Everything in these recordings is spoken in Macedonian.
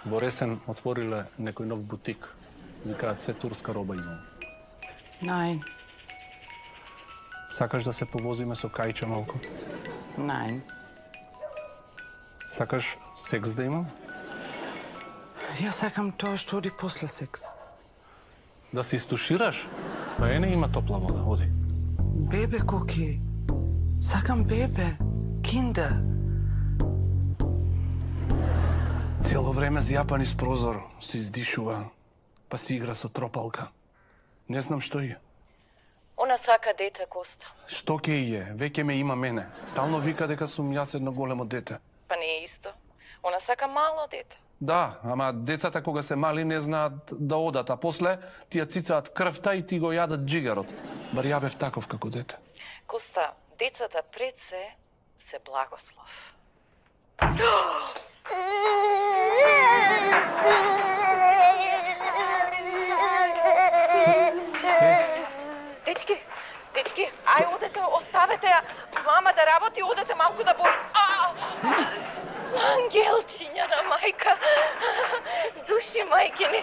Во Ресен отвориле некој нов бутик. Викаат се турска роба имам. Nein. Сакаш да се повозиме со Кајче малку? Nein. Сакаш секс да имам? Ја сакам тоа што оди после секс. Да се истушираш? Па не има топла вода, оди. Бебе, Коки. Сакам бебе. Kinder. Цело време зјапан из прозор, се издишува, па си игра со тропалка. Не знам што е. Она сака дете, Коста. Што ке е? Веќе ме има мене. Стално вика дека сум јас едно големо дете. Па не е исто. Она сака мало дете. Да, ама децата кога се мали не знаат да одат, а после тие цицаат крвта и ти го јадат джигарот. Бар ја бев таков како дете. Коста, децата пред се благослов. Дечки, ај одете, оставете ја. Мама да работи, одете малку да бои. Ангелчиња на мајка. Души мајкини.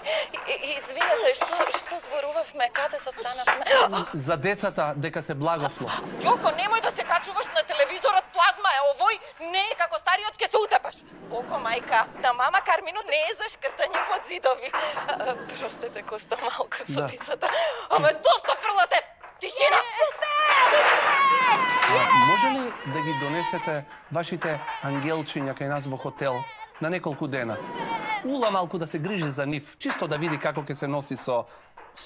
Извинете, што зборувавме, каде се станавме? За децата дека се благослов. Јоко, немој да се качуваш на телевизорот, плазма е овој, не е како стариот ке се утепаш. Око, мајка, на мама Кармино не е за шкртање под зидови. Простете, Коста, малку со децата. Ама доста фрлате! Тишина! Може ли да ги донесете вашите ангелчиња кај нас во хотел на неколку дена? Ула малку да се грижи за нив, чисто да види како ќе се носи со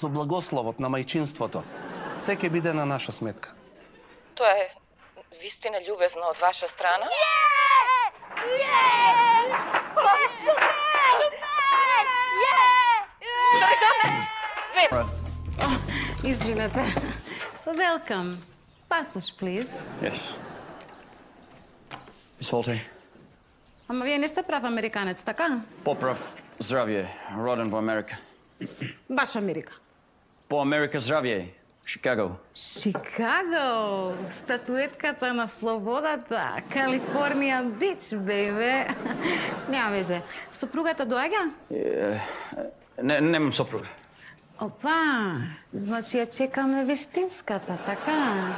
благословот на мајчинството. Се ќе биде на наша сметка. Тоа е вистина љубезно од ваша страна? Извинете. Welcome. Passage, please. Yes. Izvolite. Ама вие не сте прав американец, така? Поправ здравје. Роден во Америка. Баш Америка. По Америка здравје. Шикаго. Шикаго! Статуетката на слободата. Калифорнија бич, бебе. Нема везе. Сопругата доаѓа? Немам сопруга. Опа, значи ја чекаме вистинската, така?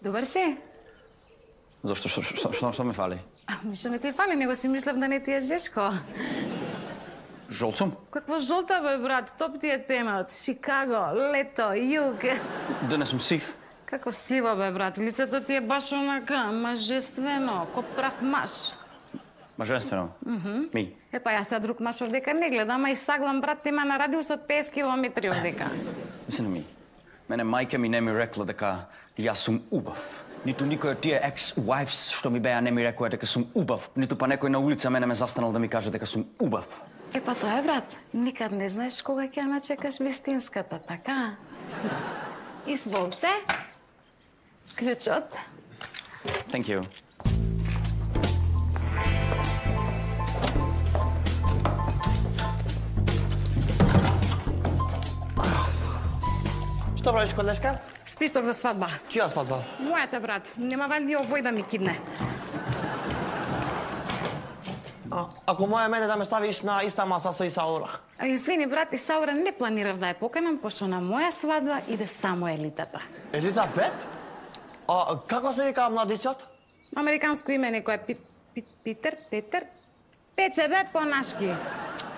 Добар си? Зошто? Што ме фали? Што не ти фали, него си мислев да не ти е жешко. Жолт сум? Какво жолта, бе, брат? Топ ти е тенот. Шикаго, лето, југ. Денес сум сив. Како сива, бе, брат? Лицето ти е баш онака, мажествено, ко прав маж. Мажествено? Ми? Епа, јас сега друг маж овдека не гледам, а и саглам, брат, има на радиус од 50 километри овдека. Мисли ми, мене мајка ми не ми рекла дека јас сум убав. Ниту никој од тие ex-wives што ми беа не ми рекоа дека сум убав. Ниту па некој на улица мене ме застанал да ми каже дека сум убав. Епа тоа е, брат. Никад не знаеш кога ќе ја начекаш вистинската, така? Изволте. Клучот. Thank you. Што правиш, колешка? Список за свадба. Чија свадба? Мојата, брат. Нема валјди овој да ми кидне. Ако моја мене да ме ставиш на иста маса со Исаура? Извини, брат, Исаура не планирав да ја поканам, пошто на моја свадба иде само елитата. Елита 5? Како се вика младичот? Американско име некој е Питер? Пеце, бе, по-нашки.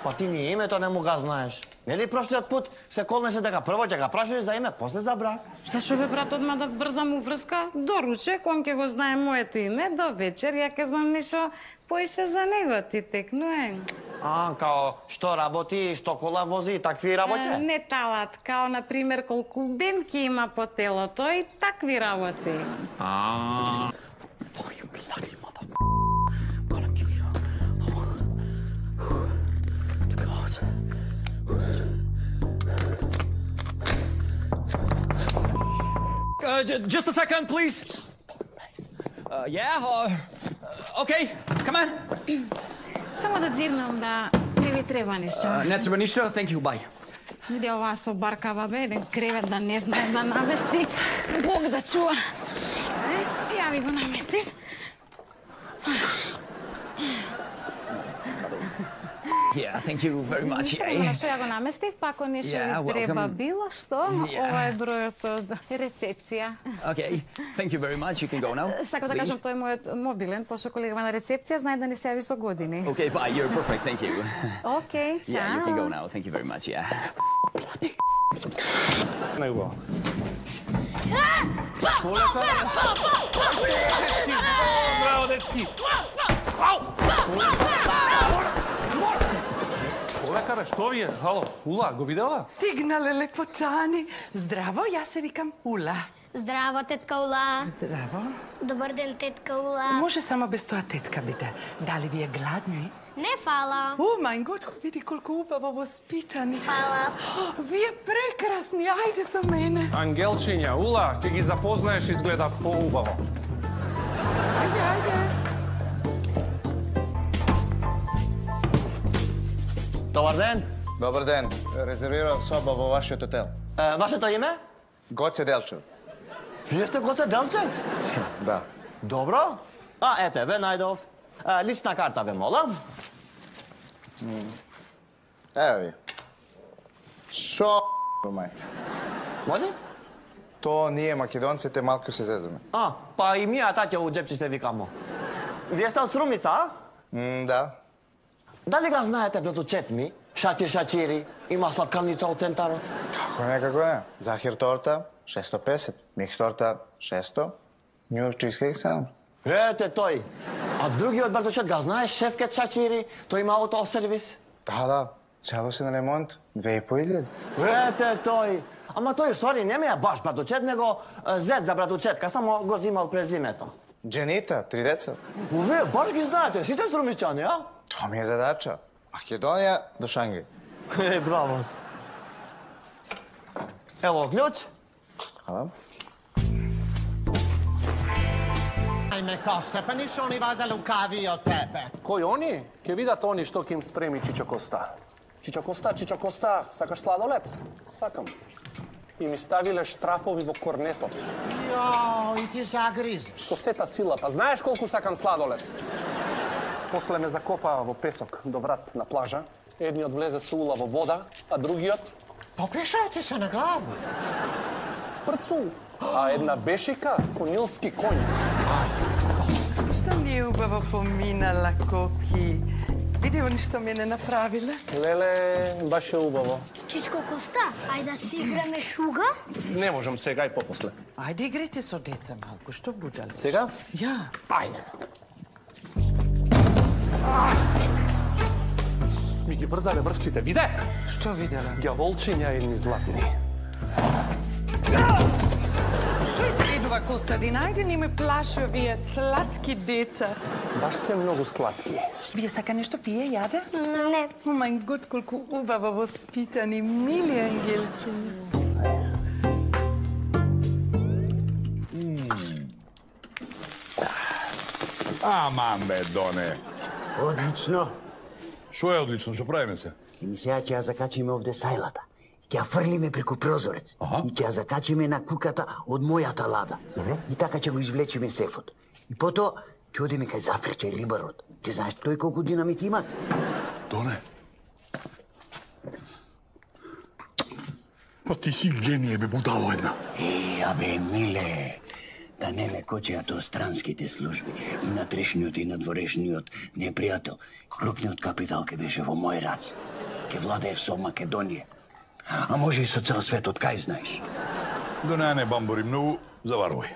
Па ти ни името не му га знаеш. Нели прошлиот пут се колнеше дека прво ќе га прашаш за име, после за брак? Зашо бе, брат, одма да брзам уврска? До ручек, он ќе го знае моето име, до вечер ја ќе знам нешто поише за него, ти текнуе. Као што работи, што кола вози, такви работи? Не талат, као, например, колку бемки има по телото и такви работи. Just a second, please. Okay, come on. Само да дзирнам да не ви треба нешто. Не треба ништо, thank you, bye. Види оваа собаркава, бе, еден кревет да не знае да намести. Бог да чува. Ја ви го наместив. thank you very much. Ништо на што ја го наместив, па ако нешто Yeah, ви треба welcome. било што, Yeah. ова е бројот од рецепција. Okay, thank you very much. You can go now. Сакам да please. кажам, тој е мојот мобилен, пошто колегава на рецепција знае да не се јави со години. Okay, bye. You're perfect. Thank you. Океј, чао. Yeah, you can go now. Thank you very much. Yeah. Најубаво. Браво, дечки! Полека, бе, што ви е? Хало, Ула, го видела? Стигнале лепотани. Здраво, јас се викам Ула. Здраво, тетка Ула. Здраво. Добар ден, тетка Ула. Може само без тоа тетка биде. Дали ви е гладни? Не фала. О, мај год, види колку убаво воспитани. Фала. Вие прекрасни, ајде со мене. Ангелчиња, Ула, ќе ги запознаеш, изгледа поубаво. Ајде, ајде. Добар ден. Добар ден. Резервирав соба во вашиот хотел. Вашето име? Гоце Делчев. Вие сте Гоце Делчев? Да. Добро. Ете, ве најдов. Лична карта ве молам. Ево ви. Шо, мај? Може? То ние македонците малку се зезаме. Па и мија таќе у джепче ще викамо. Вие сте од Срумица, а? Да. Дали га знаете братучет ми? Шачир Шачири, има сладкалница од центарот. Како не. Захир торта 650, микс торта 600, Нью чизкейк 7. Ете тој. А другиот братучет га знаеш Шефкет Шачири, тој има аутосервис. Да, целосен ремонт 2500. Ете тој. Ама тој сори не ми е баш братучет, него зет за братучетка, само го зимал презимето. Дженита, 3 деца. Вие баш ги знаете, сите срумичани, а? Тоа ми е задача. Македонија до Шангај. Браво. Ево клjuč. Хала. Ajme, Kosta, pa nisu oni valjda lukavi od tebe. Кој они? Ќе видат они што ќе им спреми Чичо Коста. Чичо Коста, сакаш сладолед? Сакам. И ми ставиле штрафови во корнетот. Jo, i ti zagrizeš. Со сета сила, па знаеш колку сакам сладолед? После ме закопаа во песок до врат на плажа. Едниот влезе со Ула во вода, а другиот Popišao ti se na glavu. прцу. А една бешика, конилски коњ. Што ми е убаво поминала, Коки. Види они што мене направиле? Леле, баш е убаво. Чичко Коста, ајде да си играме шуга? Не можам сега и попосле. Ајде играйте со деца малку, што будале? Сега? Ја. Ајде. Ми ги врзале врвците, виде? Што видела? Ѓаволчиња едни златни. Што изгледува, Костадин? Ајде не ме плаши овие сладки деца. Баш се многу сладки. Вие сака нешто пие, јаде? Не. О, мај год, колку убаво воспитани, мили ангелчиња. Аман бе, Доне. Одлично. Шо е одлично? Шо правиме се? И сега ќе ја закачиме овде сајлата. Ќе ја фрлиме преку прозорец. И ќе ја закачиме на куката од мојата лада. И така ќе го извлечиме сефот. И потоа ќе одиме кај Зафирче рибарот. Ти знаеш тој колку динамит имат? Доне. Па ти си генije, бе, будало една. Абе, миле, да не ме кочеат странските служби. И натрешниот и надворешниот непријател. Крупниот капитал ке беше во мој раце. Ке владеев со Македонија. А може и со цел свет, од кај знаеш? Доне, не бамбори многу, заварувај.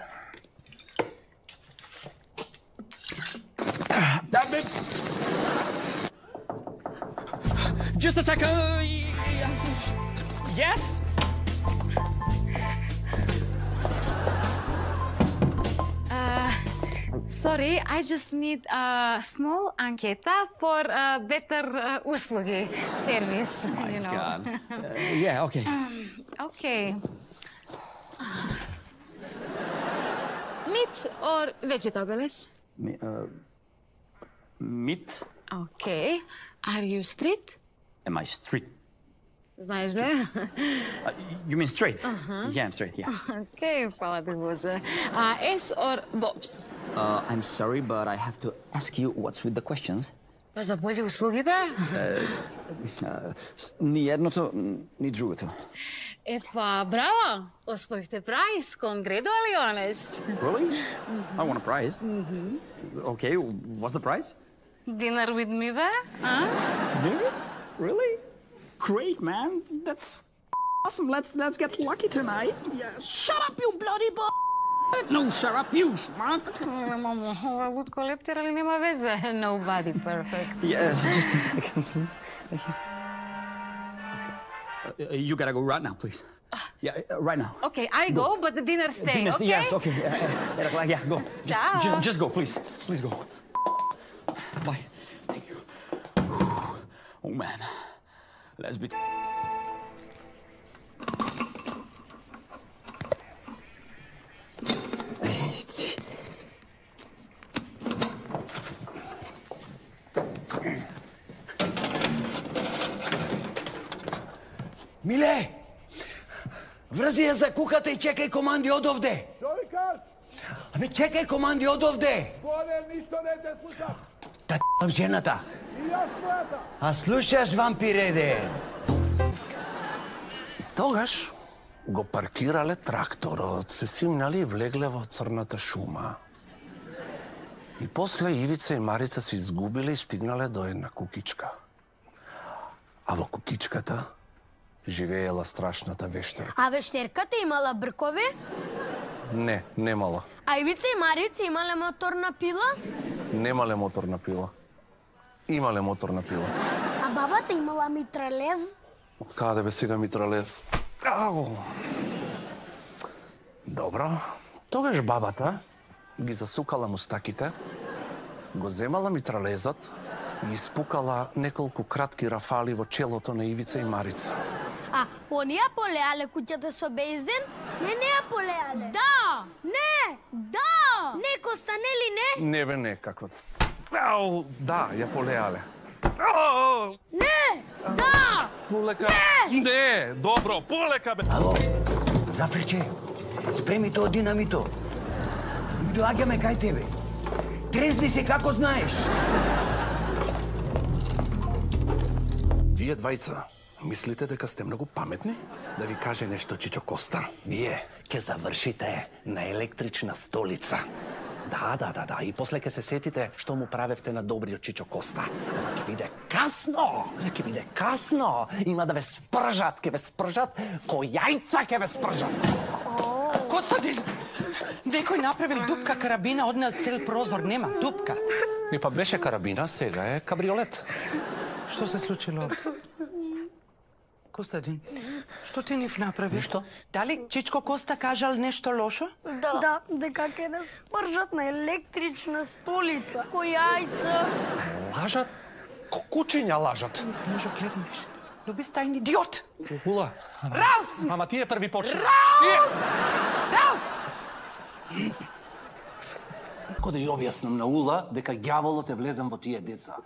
Да, бе. Just a second. Yes? Sorry, I just need a small anketa for better услуги, service, you know. God. Yeah, okay. Okay. Meat or vegetables? Meat? Okay. Are you street? Am I straight? Знаеш да? You mean straight? Yeah, I'm straight, yeah. Okay, хвала ти Боже. S or Bobs? I'm sorry, but I have to ask you what's with the questions. Па за болji услуги, бе? Ни едното, ни другото. Па, браво! Освоихте прайс. Congratulations! Really? I want a prize. Okay, what's the prize? Dinner with me, бе? Dinner? Really? Great, man. That's awesome. Let's get lucky tonight. Yeah. Shut up, you bloody No, shut up, you schmuck. Мамо, ова лутко лептер, али нема везе? Nobody perfect. Yeah, just a second, please. You gotta go right now, please. Yeah, right now. Okay, I go, but the dinner stay, Dinner, okay? yes, okay. Yeah, go. Ciao. Just go, please. Please go. Bye. Thank you. Oh, man. Let's be... Миле! Врзи ја за кухата и чекај команди од овде! Што ви кажеш? Абе, чекај команди од овде! Боне, ништо не те слушам. Да т***ам жената! И јас својата. А слушаш, вампиреде? Тогаш го паркирале тракторот, се симнали и влегле во црната шума. И после Ивица и Марица се изгубиле и стигнале до една кукичка. А во кукичката живеела страшната вештарка. А вештерката имала бркови? Не, немала. А Ивица и Марица имале моторна пила? Немале моторна пила. Имале моторна пила. А бабата имала митралез? Од каде бе сега митралез? Ау! Добро. Тогаш бабата ги засукала мустаките, го земала митралезот и испукала неколку кратки рафали во челото на Ивица и Марица. А, оние полеале куќата со бензин? Не ја полеале. Да! Не! Да! Не, Коста, нели не? Не бе, не, какво? Ау, да, ја полеале. Ау! Не! Да! Полека. Не, добро, полека бе. Ало, Зафриче, спреми тоа динамито. Ми доаѓаме кај тебе. Трезни се како знаеш. Вие двајца, мислите дека сте многу паметни? Да ви каже нешто Чичо Коста. Вие ќе завршите на електрична столица. Да. И после ќе се сетите што му правевте на добриот Чичо Коста. Ќе биде касно. Има да ве спржат, ко јајца ќе ве спржат. Костадин, некој направил дупка карабина, однел цел прозор, нема дупка. И па беше карабина, сега е кабриолет. Што се случило? Костадин, што ти нив направи? Ништо. Дали Чичко Коста кажал нешто лошо? Да, дека ќе не спржат на електрична столица. Ко јајца. Лажат? Кучиња лажат. Може гледам нешто. Люби стајн идиот! Ула. Раус! Ама тие први почна. Раус! Раус! Како да ја објаснам на Ула дека ѓаволот е влезен во тие деца.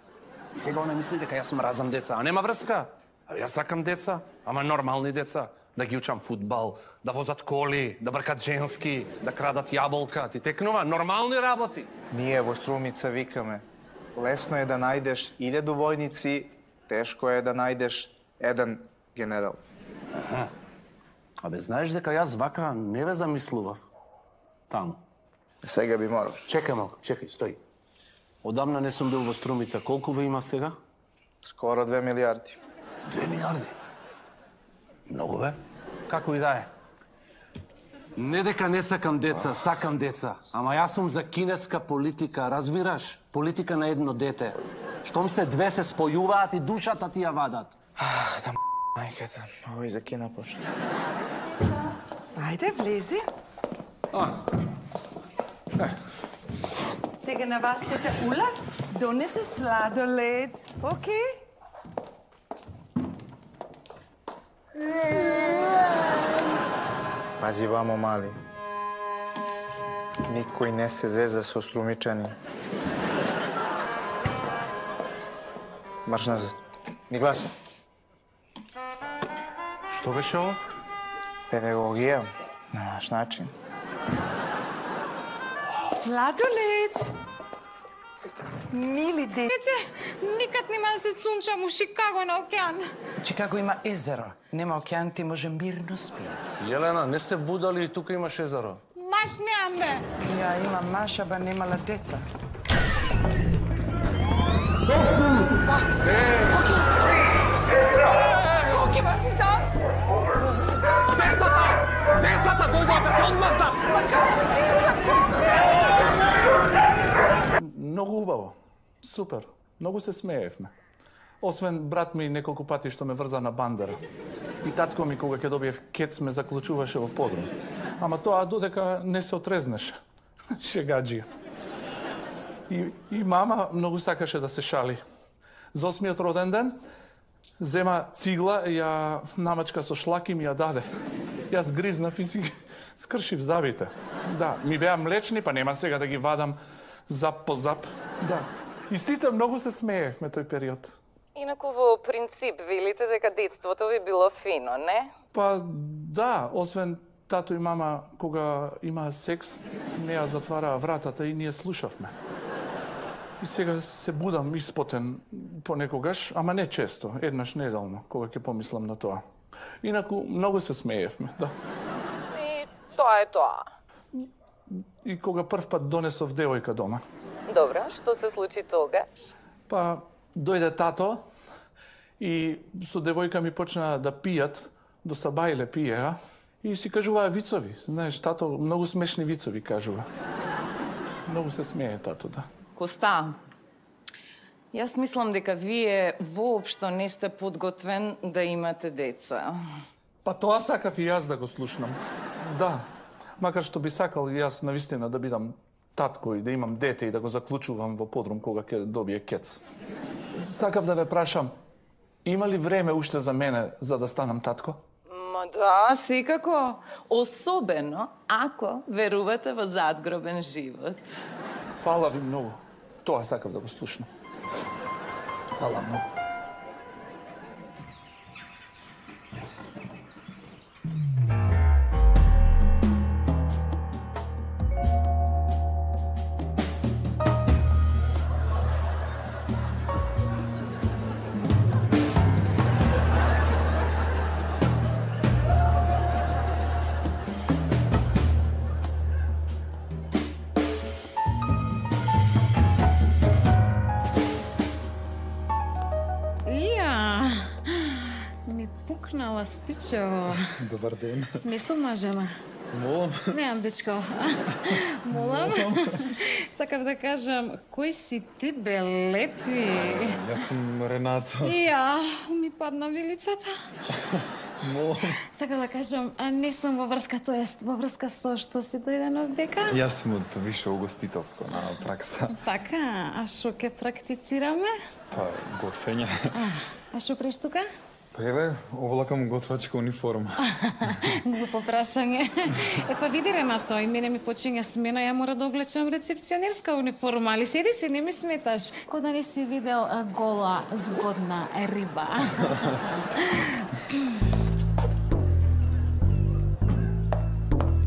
И сега она мисли дека јас мразам деца, а нема врска. А јас сакам деца, ама нормални деца. Да ги учам фудбал, да возат коли, да бркат женски, да крадат јаболка. Ти текнува нормални работи. Ние во Струмица викаме, лесно е да најдеш 1000 војници, тешко е да најдеш еден генерал. Абе, знаеш дека јас вака не ве замислував. Таму. Сега би морал. Чекај малку, чекај, стои. Одамна не сум бил во Струмица. Колку ве има сега? Скоро 2 милиарди. 2 милиарди? Многу бе. Како и да е. Не дека не сакам деца, сакам деца. Ама јас сум за кинеска политика, разбираш? Политика на едно дете. Штом се две се спојуваат и душата ти ја вадат. Да мајката, овој за Кина почна. Ајде, влези. Сега на вас тете Ула донесе сладолед. Окей? Пази вамо, мали. Никој не се зеза со струмичани. Марш назад. Ни гласа. Што беше ово? Педагогија на наш начин. Сладолед. Мили деца. Деце, никад нема да се цунчам у Шикаго на океан. Чикаго има езеро. Нема океан, ти може мирно спи. Јелена, не се будали и тука имаш езеро. Маш немам, бе. Ја има маша, ба немала деца. Коки, бас си дас? Децата дојдоа да се одмаздат! Па какви деца, Коки? Многу убаво. Супер. Многу се смеевме. Освен брат ми неколку пати што ме врза на бандера. И татко ми кога ќе добиев кец ме заклучуваше во подрум. Ама тоа додека не се отрезнеше. Шегаджија. И мама многу сакаше да се шали. За 8-миот роден ден зема цигла, ја намачка со шлак и ми ја даде. Јас гризнав и си скршив забите. Да, ми беа млечни, па нема сега да ги вадам зап по зап. Да. И сите многу се смеевме тој период. Инаку во принцип велите дека детството ви било фино, не? Па да, освен тато и мама кога имаа секс, не ја затвараа вратата и ние слушавме. И сега се будам испотен понекогаш, ама не често, еднаш неделно, кога ќе помислам на тоа. Инаку многу се смеевме, да. И тоа е тоа. И кога прв пат донесов девојка дома. Добро, што се случи тогаш? Па дојде тато и со девојка ми почна да пијат, до сабајле пиеа и си кажуваа вицови. Знаеш, тато многу смешни вицови кажува. Многу се смее тато, да. Коста, јас мислам дека вие воопшто не сте подготвен да имате деца. Па тоа сакав и јас да го слушнам. Да, макар што би сакал и јас навистина да бидам татко и да имам дете и да го заклучувам во подрум кога ќе добие кец. Сакав да ве прашам, има ли време уште за мене за да станам татко? Ма да, секако. Особено ако верувате во задгробен живот. Фала ви многу. Тоа сакав да го слушнам. Фала многу. Стичо. Добар ден. Не сум мажена. Молам. Немам дечко. Молам. Сакав да кажам, кој си ти бе лепи? Јас сум Ренато. Ја, ми падна вилицата. Молам. Сакав да кажам, не сум во врска, тоест во врска со што си дојден од дека? Јас сум од више угостителско на пракса. Така, а што ќе практицираме? Па, готвење. А што преш тука? Па еве, облакам готвачка униформа. Глупо прашање. Па види Ренато, и мене ми почиња смена, ја мора да облечам рецепционерска униформа, али седи си, не ми сметаш. Ко да не си видел гола, згодна риба.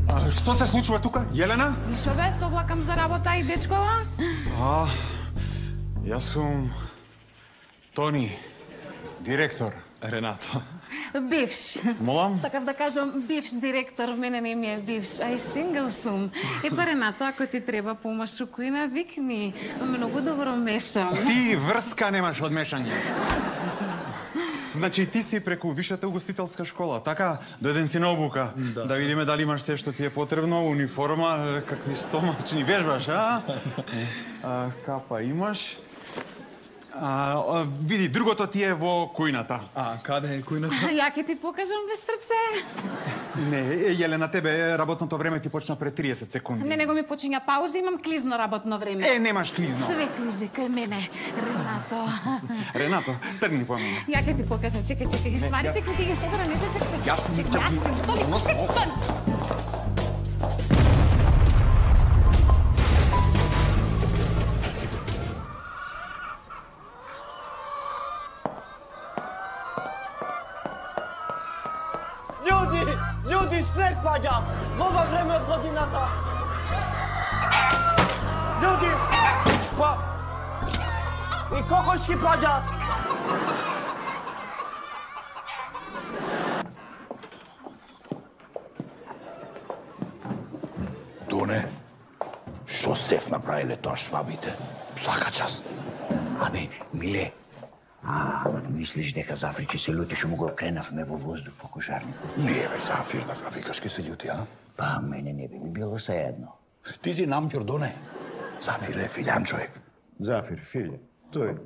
А што се случува тука, Јелена? Ништо бе, се облакам за работа и дечкова. Јас сум Тони, директор. Ренато. Бивш. Молам? Сакав да кажам бивш директор, мене не ми е бивш, а и сингл сум. Епа Ренато, ако ти треба помаш у кујна, викни. Многу добро мешам. Ти врска немаш од мешање. Значи ти си преку вишата угостителска школа, така? Дојден си на обука. Да видиме дали имаш се што ти е потребно, униформа, какви стомачни вежбаш, а? Капа имаш. Види, другото ти е во кујната. Каде е кујната? Ја ќе ти покажам без срце. Не, Јелена, тебе работното време ти почна пред 30 секунди. Не, него ми почиња пауза, имам клизно работно време. Немаш клизно. Све клизи кај мене, Ренато. Ренато, тргни по мене. Ја ќе ти покажам, чекај, ги стварите кои ти ги собера, не се секај. Јас ми Ljudi, снег паѓа! Во ова време од годината! Ljudi! Па... и кокошки паѓаат. Доне, што сеф направиле тоа швабите? Свака част. Абе, Миле, мислиш дека Зафир ќе се лути што му го кренавме во воздух по кошарникот? Не, бе, Зафир, да викаш ке се лути, а? Па, мене не би ми било сеедно. Ти си намќор, Доне. Зафир е филјан човек. Зафир, филјан, тој.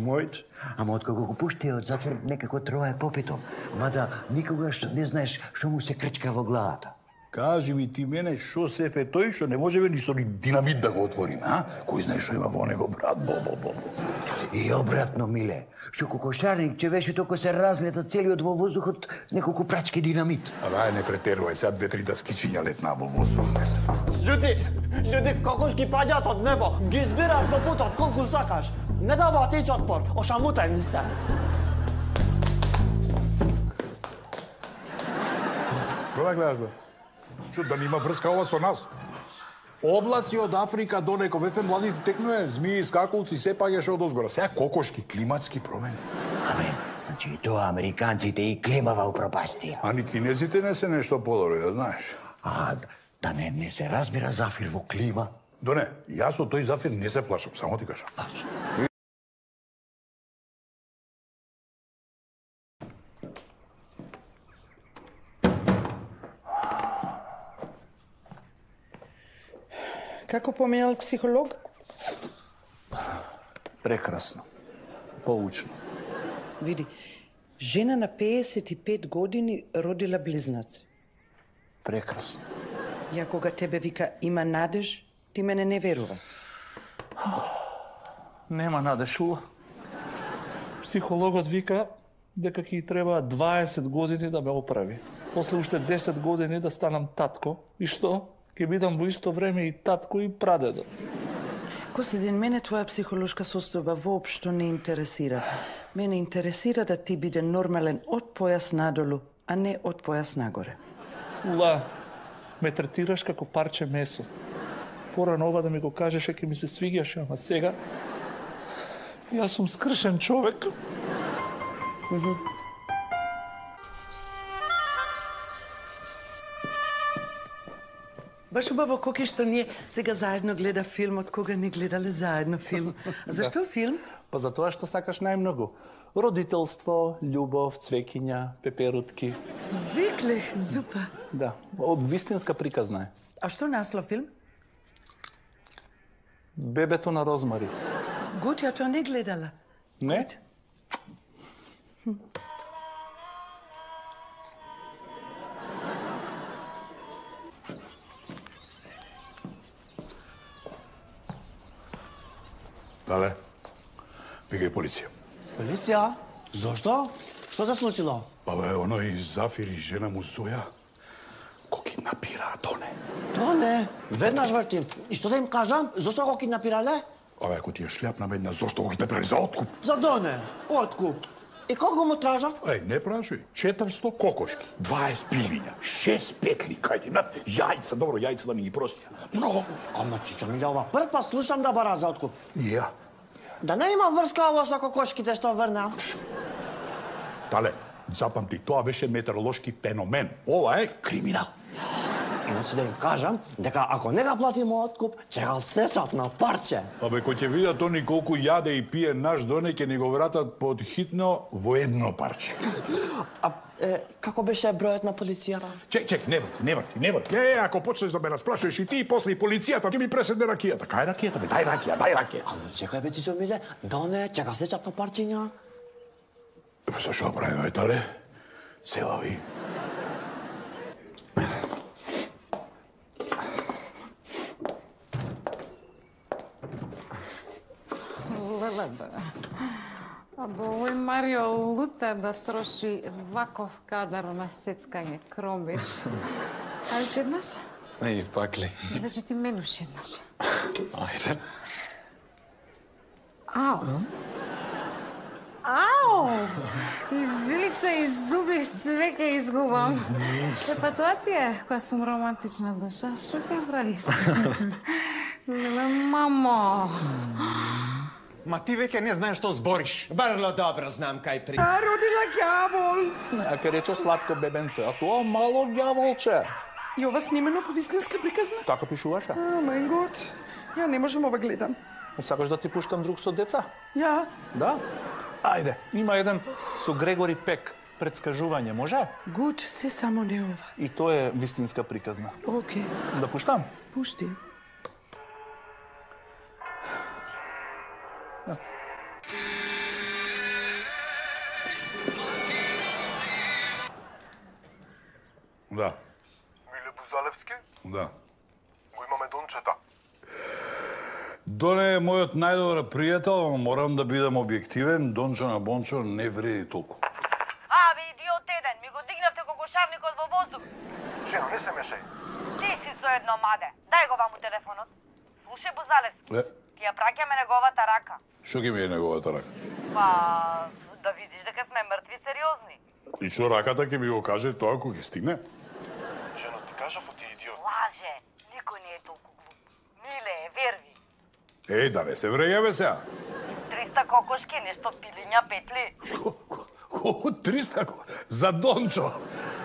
Мојот. Ама откако го пушти од затвор, некако трое попито. Мада никогаш не знаеш што му се крчка во главата. Кажи ми ти мене што сеф е тој што не можеме ни со динамит да го отвориме, а? Кој знае што има во него, брат, бо. И обратно, Миле, што кокошарник че беше толку се разлета целиот во воздухот неколку прачки динамит. Ај, не претерувај, сега 2-3 даскичиња летна во воздух. Луѓе, кокошки паѓаат од небо. Ги збираш по путот колку сакаш. Не дава тич отпор, ошамутај ми се. Што да гледаш, бе? Што, да нема врска ова со нас? Облаци од Африка до неко бефе младите текнуе, змии, скакулци, се паѓаше од озгора. Сега кокошки, климатски промени. Абе, значи и тоа американците и климава упропастија. А ни кинезите не се нешто подобри, да знаеш. Да не се разбира Зафир во клима. Доне, јас од тој Зафир не се плашам, само ти кажам. Како поминал психолог? Прекрасно. Поучно. Види, жена на 55 години родила близнаци. Прекрасно. Ја кога тебе вика има надеж, ти мене не верува. Нема надеж, Ула. Психологот вика дека ќе треба 20 години да ме оправи. После уште 10 години да станам татко. И што? Ќе бидам во исто време и татко и прадедо. Костадин, мене твоја психолошка состојба воопшто не интересира. Мене интересира да ти биде нормален од појас надолу, а не од појас нагоре. Ула, ме третираш како парче месо. Порано ова да ми го кажеше ќе ми се свиѓаше, ама сега јас сум скршен човек. Баш убаво, Коки, што ние сега заедно гледа филм, од кога не гледале заедно филм. А зашто филм? Па за тоа што сакаш најмногу. Родителство, љубов, цвекиња, пеперутки. Викле, зупа. Да, од вистинска приказна е. А што наслов филм? Бебето на Розмари. Гуд, ја тоа не гледала. Не? Дале, викај полиција. Полиција? Зошто? Што се случило? Па бе, оној Зафир и жена му Зоја го киднапираа Доне. Доне? Веднаш вртим. И што да им кажам? Зошто го киднапирале? Абе, ако ти е шљапна медна, зошто го киднапирале за откуп? За Доне. Откуп. И колку му тражат? Еј, не прашај. 400 кокошки, 20 пилиња, 6 петли, кајде, над јајца, добро, јајца да ми ги простија. Много. Ама чичо ми ова прв пат слушам да бара за откуп. И ја. Да не има врска ово со кокошките што врна. Тале, запамти, тоа беше метеоролошки феномен. Ова е криминал. Иначе да им кажам дека ако не га платиме откуп, ќе го сечат на парче. Абе, кој ќе видат они колку јаде и пие наш Доне, ќе ни го вратат под хитно во едно парче. Како беше бројот на полицијата? Чек, не врти. Ако почнеш да ме расплашуваш и ти, и после и полицијата, ќе ми преседне ракијата. Кај ракијата, бе? Дај ракија. Ама чекај, бе, Чичо Миле, Доне, ќе га сечат на парчиња? Зашо правиме, тале? Се лави. Абе, овој Марио лута да троши ваков кадар на сецкање кромби. А уште еднаш? Еј, пак ли? Кажи ти мен уште еднаш. Ајде. Ау! И вилица и зуби све ке изгубам. Па тоа ти е, која сум романтична душа. Шо ке правиш? Леле, мамо. Ма ти веќе не знаеш што збориш. Врло добро знам кај при... А родила ѓавол. Нека рече сладко бебенце, а тоа мало ѓаволче. И ова снимено по вистинска приказна? Така пишуваше. Мај гот. Ја не можам ова гледам. Сакаш да ти пуштам друг со деца? Ја. Да? Ајде, има еден со Грегори Пек. Предскажување, може? Гуд, се само не ова. И тоа е вистинска приказна. Океј. Да пуштам? Пушти. Да. Миле Бузалевски? Да. Го имаме Дончета. Доне е мојот најдобар пријател, ама морам да бидам објективен. Дончо на Бончо не вреди толку. Ви идиот еден, ми го дигнавте кокошарникот во воздух. Жено, не се мешај. Ти си со едно маде. Дај го ваму телефонот. Слушај, Бузалевски, ти ја праќаме неговата рака. Што ги ми е неговата рака? Па, да видиш дека сме мртви сериозни. И што раката ќе ми го каже тоа кога ќе стигне? Жено, ти кажав ти идиот. Лаже, никој не е толку глуп. Миле, верви. Еј, да не се врејаме сега. 300 кокошки, нешто пилиња, петли. Колку 300? За Дончо.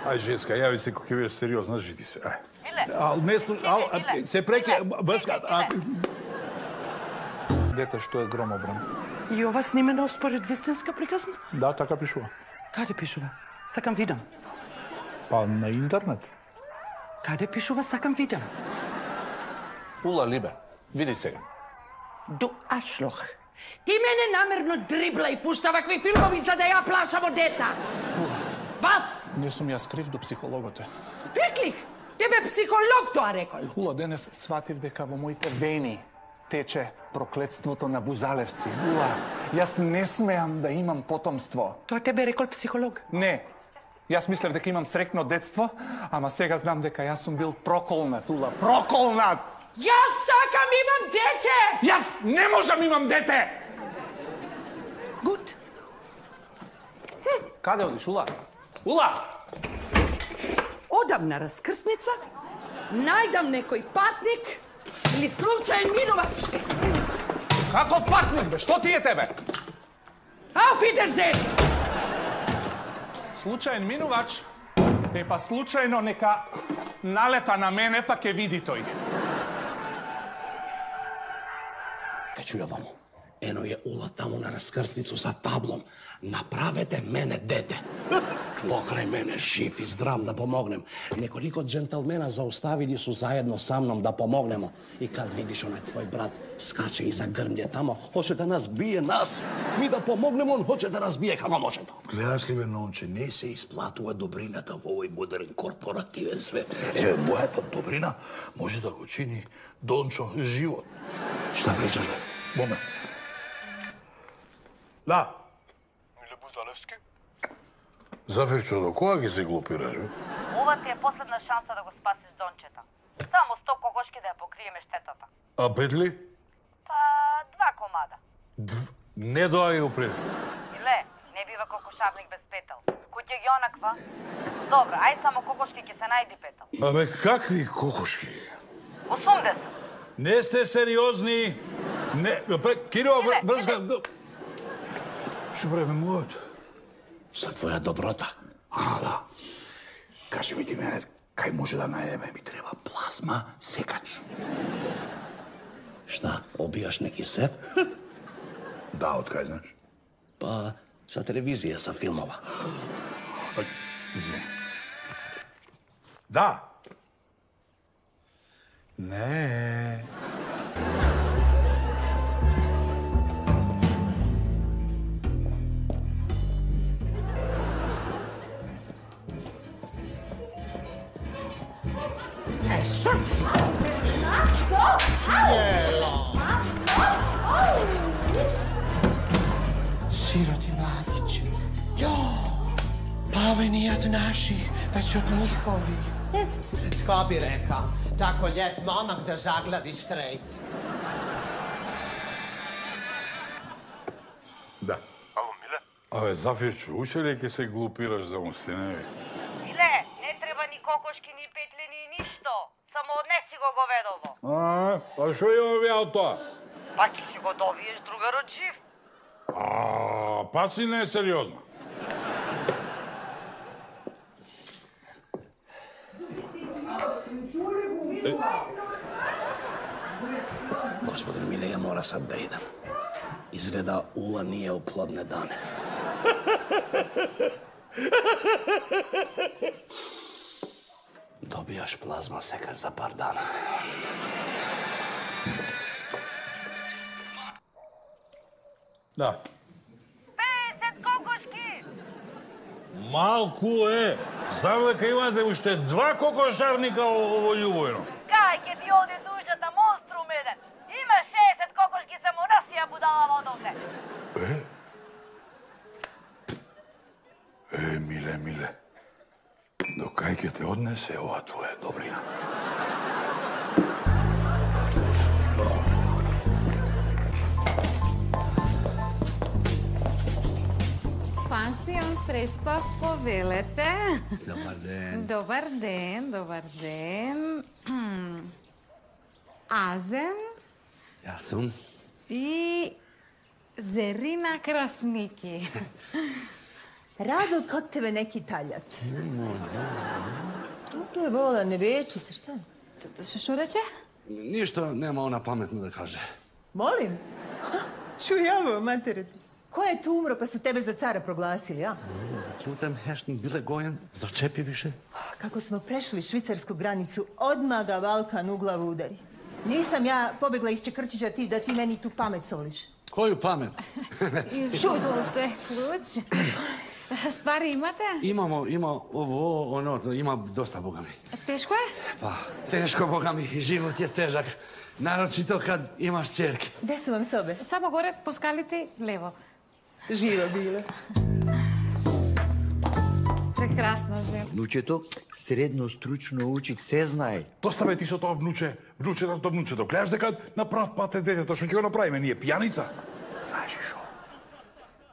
Ај, женска, јави се кога ќе бидеш сериозна, жити се. Ај. Миле. Не се преке, брска. Дете што е громобран. И ова снимено според вистинска приказна? Да, така пишува. Каде пишува? Сакам видам. Па на интернет. Каде пишува сакам видам? Ула Либе, види сега. До ашлох. Ти мене намерно дрибла и пушта вакви филмови за да ја плашам од деца. Вас! Не сум јас крив до психологот е. Реклих! Тебе психолог тоа рекол. Ула, денес сватив дека во моите вени тече проклетството на Бузалевци. Ула, јас не смеам да имам потомство. Тоа тебе рекол психолог? Не. Јас мислев дека имам срекно детство, ама сега знам дека јас сум бил проколнат, Ула. Проколнат! Јас сакам имам дете! Јас не можам имам дете! Гуд. Каде одиш, Ула? Ула! Одам на раскрсница, најдам некој патник или случаен минувач. Каков патник, бе? Што ти е тебе? Auf Wiedersehen! Случаен минувач? Па случајно нека налета на мене, па ќе види тој. Ке чуја вамо. Ено е Ула таму на раскрсницу sa таблом. Направете мене дете. Покрај мене, жив и здрав да помогнем. Неколико джентълмена зауставили су заедно са мном да помогнемо. И кад видиш онај твој брат скаче и загрмлje тамо, hoće да нас бие нас. Ми да помогнемо, он hoće да нас бие како може тоа. Гледаш ли бе, нонче, не се исплатува добрината во овој модерен корпоративен свет. Еве, мојата добрина може да го чини Дончо живот. Шта причаш, бе? Момент. Да. Миле Бузалевски? Зафирчо, до кога ги се глупираш, бе? Ова ти е последна шанса да го спасиш Дончета. Само 100 кокошки да ја покриеме штетата. А петли? Па, 2 комада. Не доаѓа упред. Иле, не бива кокошарник без петел. Куќе ги онаква? Добро, ај само кокошки ќе се најди петел. Абе, какви кокошки? 80. Не сте сериозни. Не, Киро, брзка. Што правиме мојот? За твоја доброта. А, да. Кажи ми ти мене, кај може да најдеме? Ми треба плазма секач. Шта, обијаш неки сев? Да, од кај знаеш? Па, за телевизија, за филмова. Извини. Да. Не. Siroti mladići. Jo, pa ovi nije od naših, već od njihovih. Tko bi rekao, tako lijep momak da zaglavi strejt. Да. Ало, Миле? Абе, Зафирчо, уште ли ќе се глупираш за мустиневи? Иле, не треба ни кокошки, ни петли, ни ништо. Само однеси го говедово. Па што имам ја од тоа? Па ти си го добиеш другарот жив. Па си не е сериозно. Господин Миле, ја мора сад да идам. Изгледа Ула nije u plodne dane. Dobijaš plazma sekar za par dana. Да. 50 кокошки! Малку е. Знам дека имате уште 2 кокошарника во Љубојно. Кај ќе ти оди душата, монструм еден. Има 60 кокошки, само насија будалава одовде. Миле. До кај ќе те однесе ова твоја добрина? Пансион Преспа, повелете. Добар ден. Добар ден. Азен Јас сум. и Зерина Красники. Радо, kod tebe neki Italijat. Tu je vola, ne veče se, šta? Што рече? Ништо нема она паметно да каже. Molim? Čujavo, matere ti. Ko je tu umro pa su tebe za cara proglasili, a? Čutem, Hešnik bile gojen, začepi više. Kako smo prešli švicarsku granicu, odmah ga Balkan u glavu udari. Nisam ja pobegla iz Čekrčića da ti meni tu pamet soliš. Koju pamet? Изолте клуч. Ствари имате? Има ово, оно, има доста, бога ми. Тешко е? Па, тешко, бога ми, живот е тежак. Нарочито кад имаш церки. Gde su vam sobe? Само горе по скалите лево. Živa bila. Прекрасна жена. Внучето средно стручно учи, се знае. Доста бе ти со тоа внуче, внучето. Гледаш дека на прав пат е детето, што ќе го направиме ние, пијаница? Знаеш шо?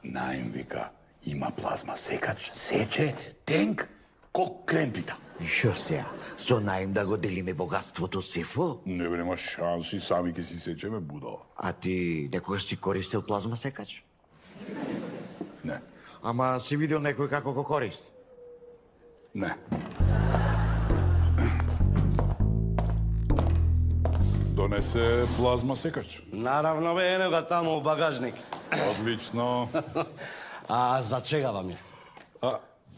Наим вика, има плазма секач, сече, тенк, ко кремпита. И шо сега? Со наим да го делиме богатството сефо? Не бе, нема шанси, сами ќе си сечеме будала. А ти некојаш си користил плазма секач? Не. Ама си видел некој како го користи? Не. Донесе плазма секач. Наравно бе, ено го таму у багажник. Одлично. А за чега вам е?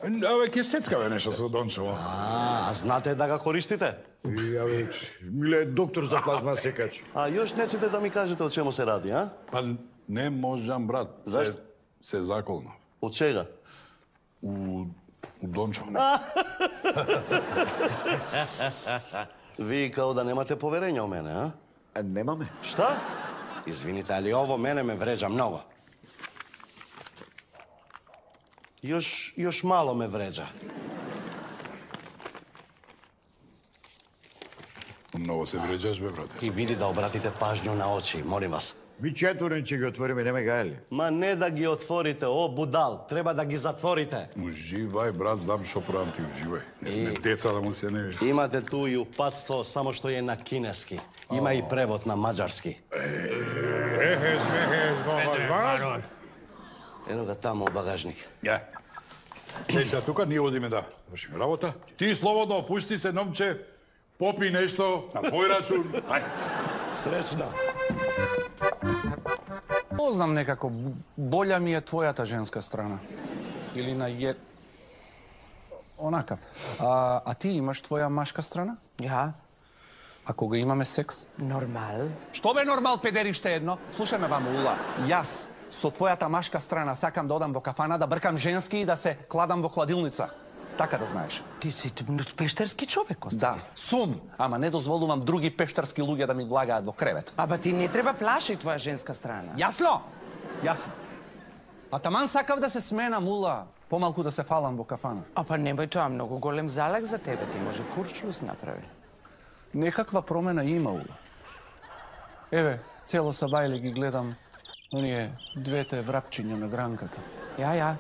Абе, ке сецкаве нешто со Дончево. А знате да го користите? Абе, Миле, доктор за плазма секач. А још неците да ми кажете о чему се ради, а? Па не можам, брат. Зашто? Се заколна. Од чега? У Дончево. Ви као да немате поверење о мене, а? Немаме. Шта? Извините, али ово мене ме вреđa многу. Još malo me vređa. Mnogo se vređaš, bе, brate. И види да обратите пажњу на очи, молим вас. Ви четворен ќе ги отвориме, нема гајле. Ма не да ги отворите, о будал, треба да ги затворите. Уживај, брат, знам што правам ти, уживај. Не сме деца да му се не виж. Имате ту и упатство, само што е на кинески. Има и превод на маđarски. Ено ga tamo u bagажник. Ја. Еј, сега тука ние одиме да вршиме работа. Ти слободно опусти се, номче, попи нешто на твој рачун. Ај. Среќна. Познам некако, болја ми е твојата женска страна. Или на онака. А ти имаш твоја машка страна? Ja, А кога имаме секс? normal. Што бе нормал, педериште едно? Слушај ме, вам, Ула. Јас со твојата машка страна сакам да одам во кафана, да бркам женски и да се кладам во кладилница. Така да знаеш. Ти си пештерски човек, Коста. Да, сум, ама не дозволувам други пештарски луѓе да ми влагаат во кревет. Аба ти не треба плаши твоја женска страна. Јасно? Јасно. А таман сакав да се сменам, Ула, помалку да се фалам во кафана. А па немој, тоа многу голем залак за тебе, ти може курчлус направи. Некаква промена има, Ула. Еве, цело сабајле ги гледам оние двете врапчиња на гранката. Ја.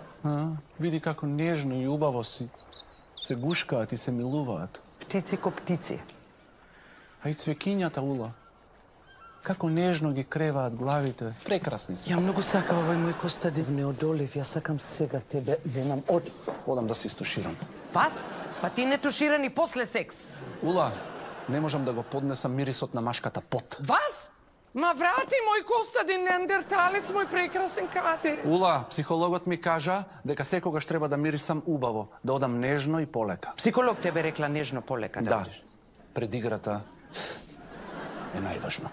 Види како нежно и убаво се гушкаат и се милуваат. Птици ко птици. А и цвекињата, Ула. Како нежно ги креваат главите. Прекрасни се. Ја многу сакам овој мој Костадин. Не одолив, ја сакам сега тебе земам од... Одам да се истуширам. Вас? Па ти не тушира ни после секс. Ула, не можам да го поднесам мирисот на машката пот. Вас? Ма врати мој Костадин, неандерталец, мој прекрасен кате. Ула, психологот ми кажа дека секогаш треба да мирисам убаво, да одам нежно и полека. Психолог тебе рекла нежно полека да одиш. Пред играта е најважно.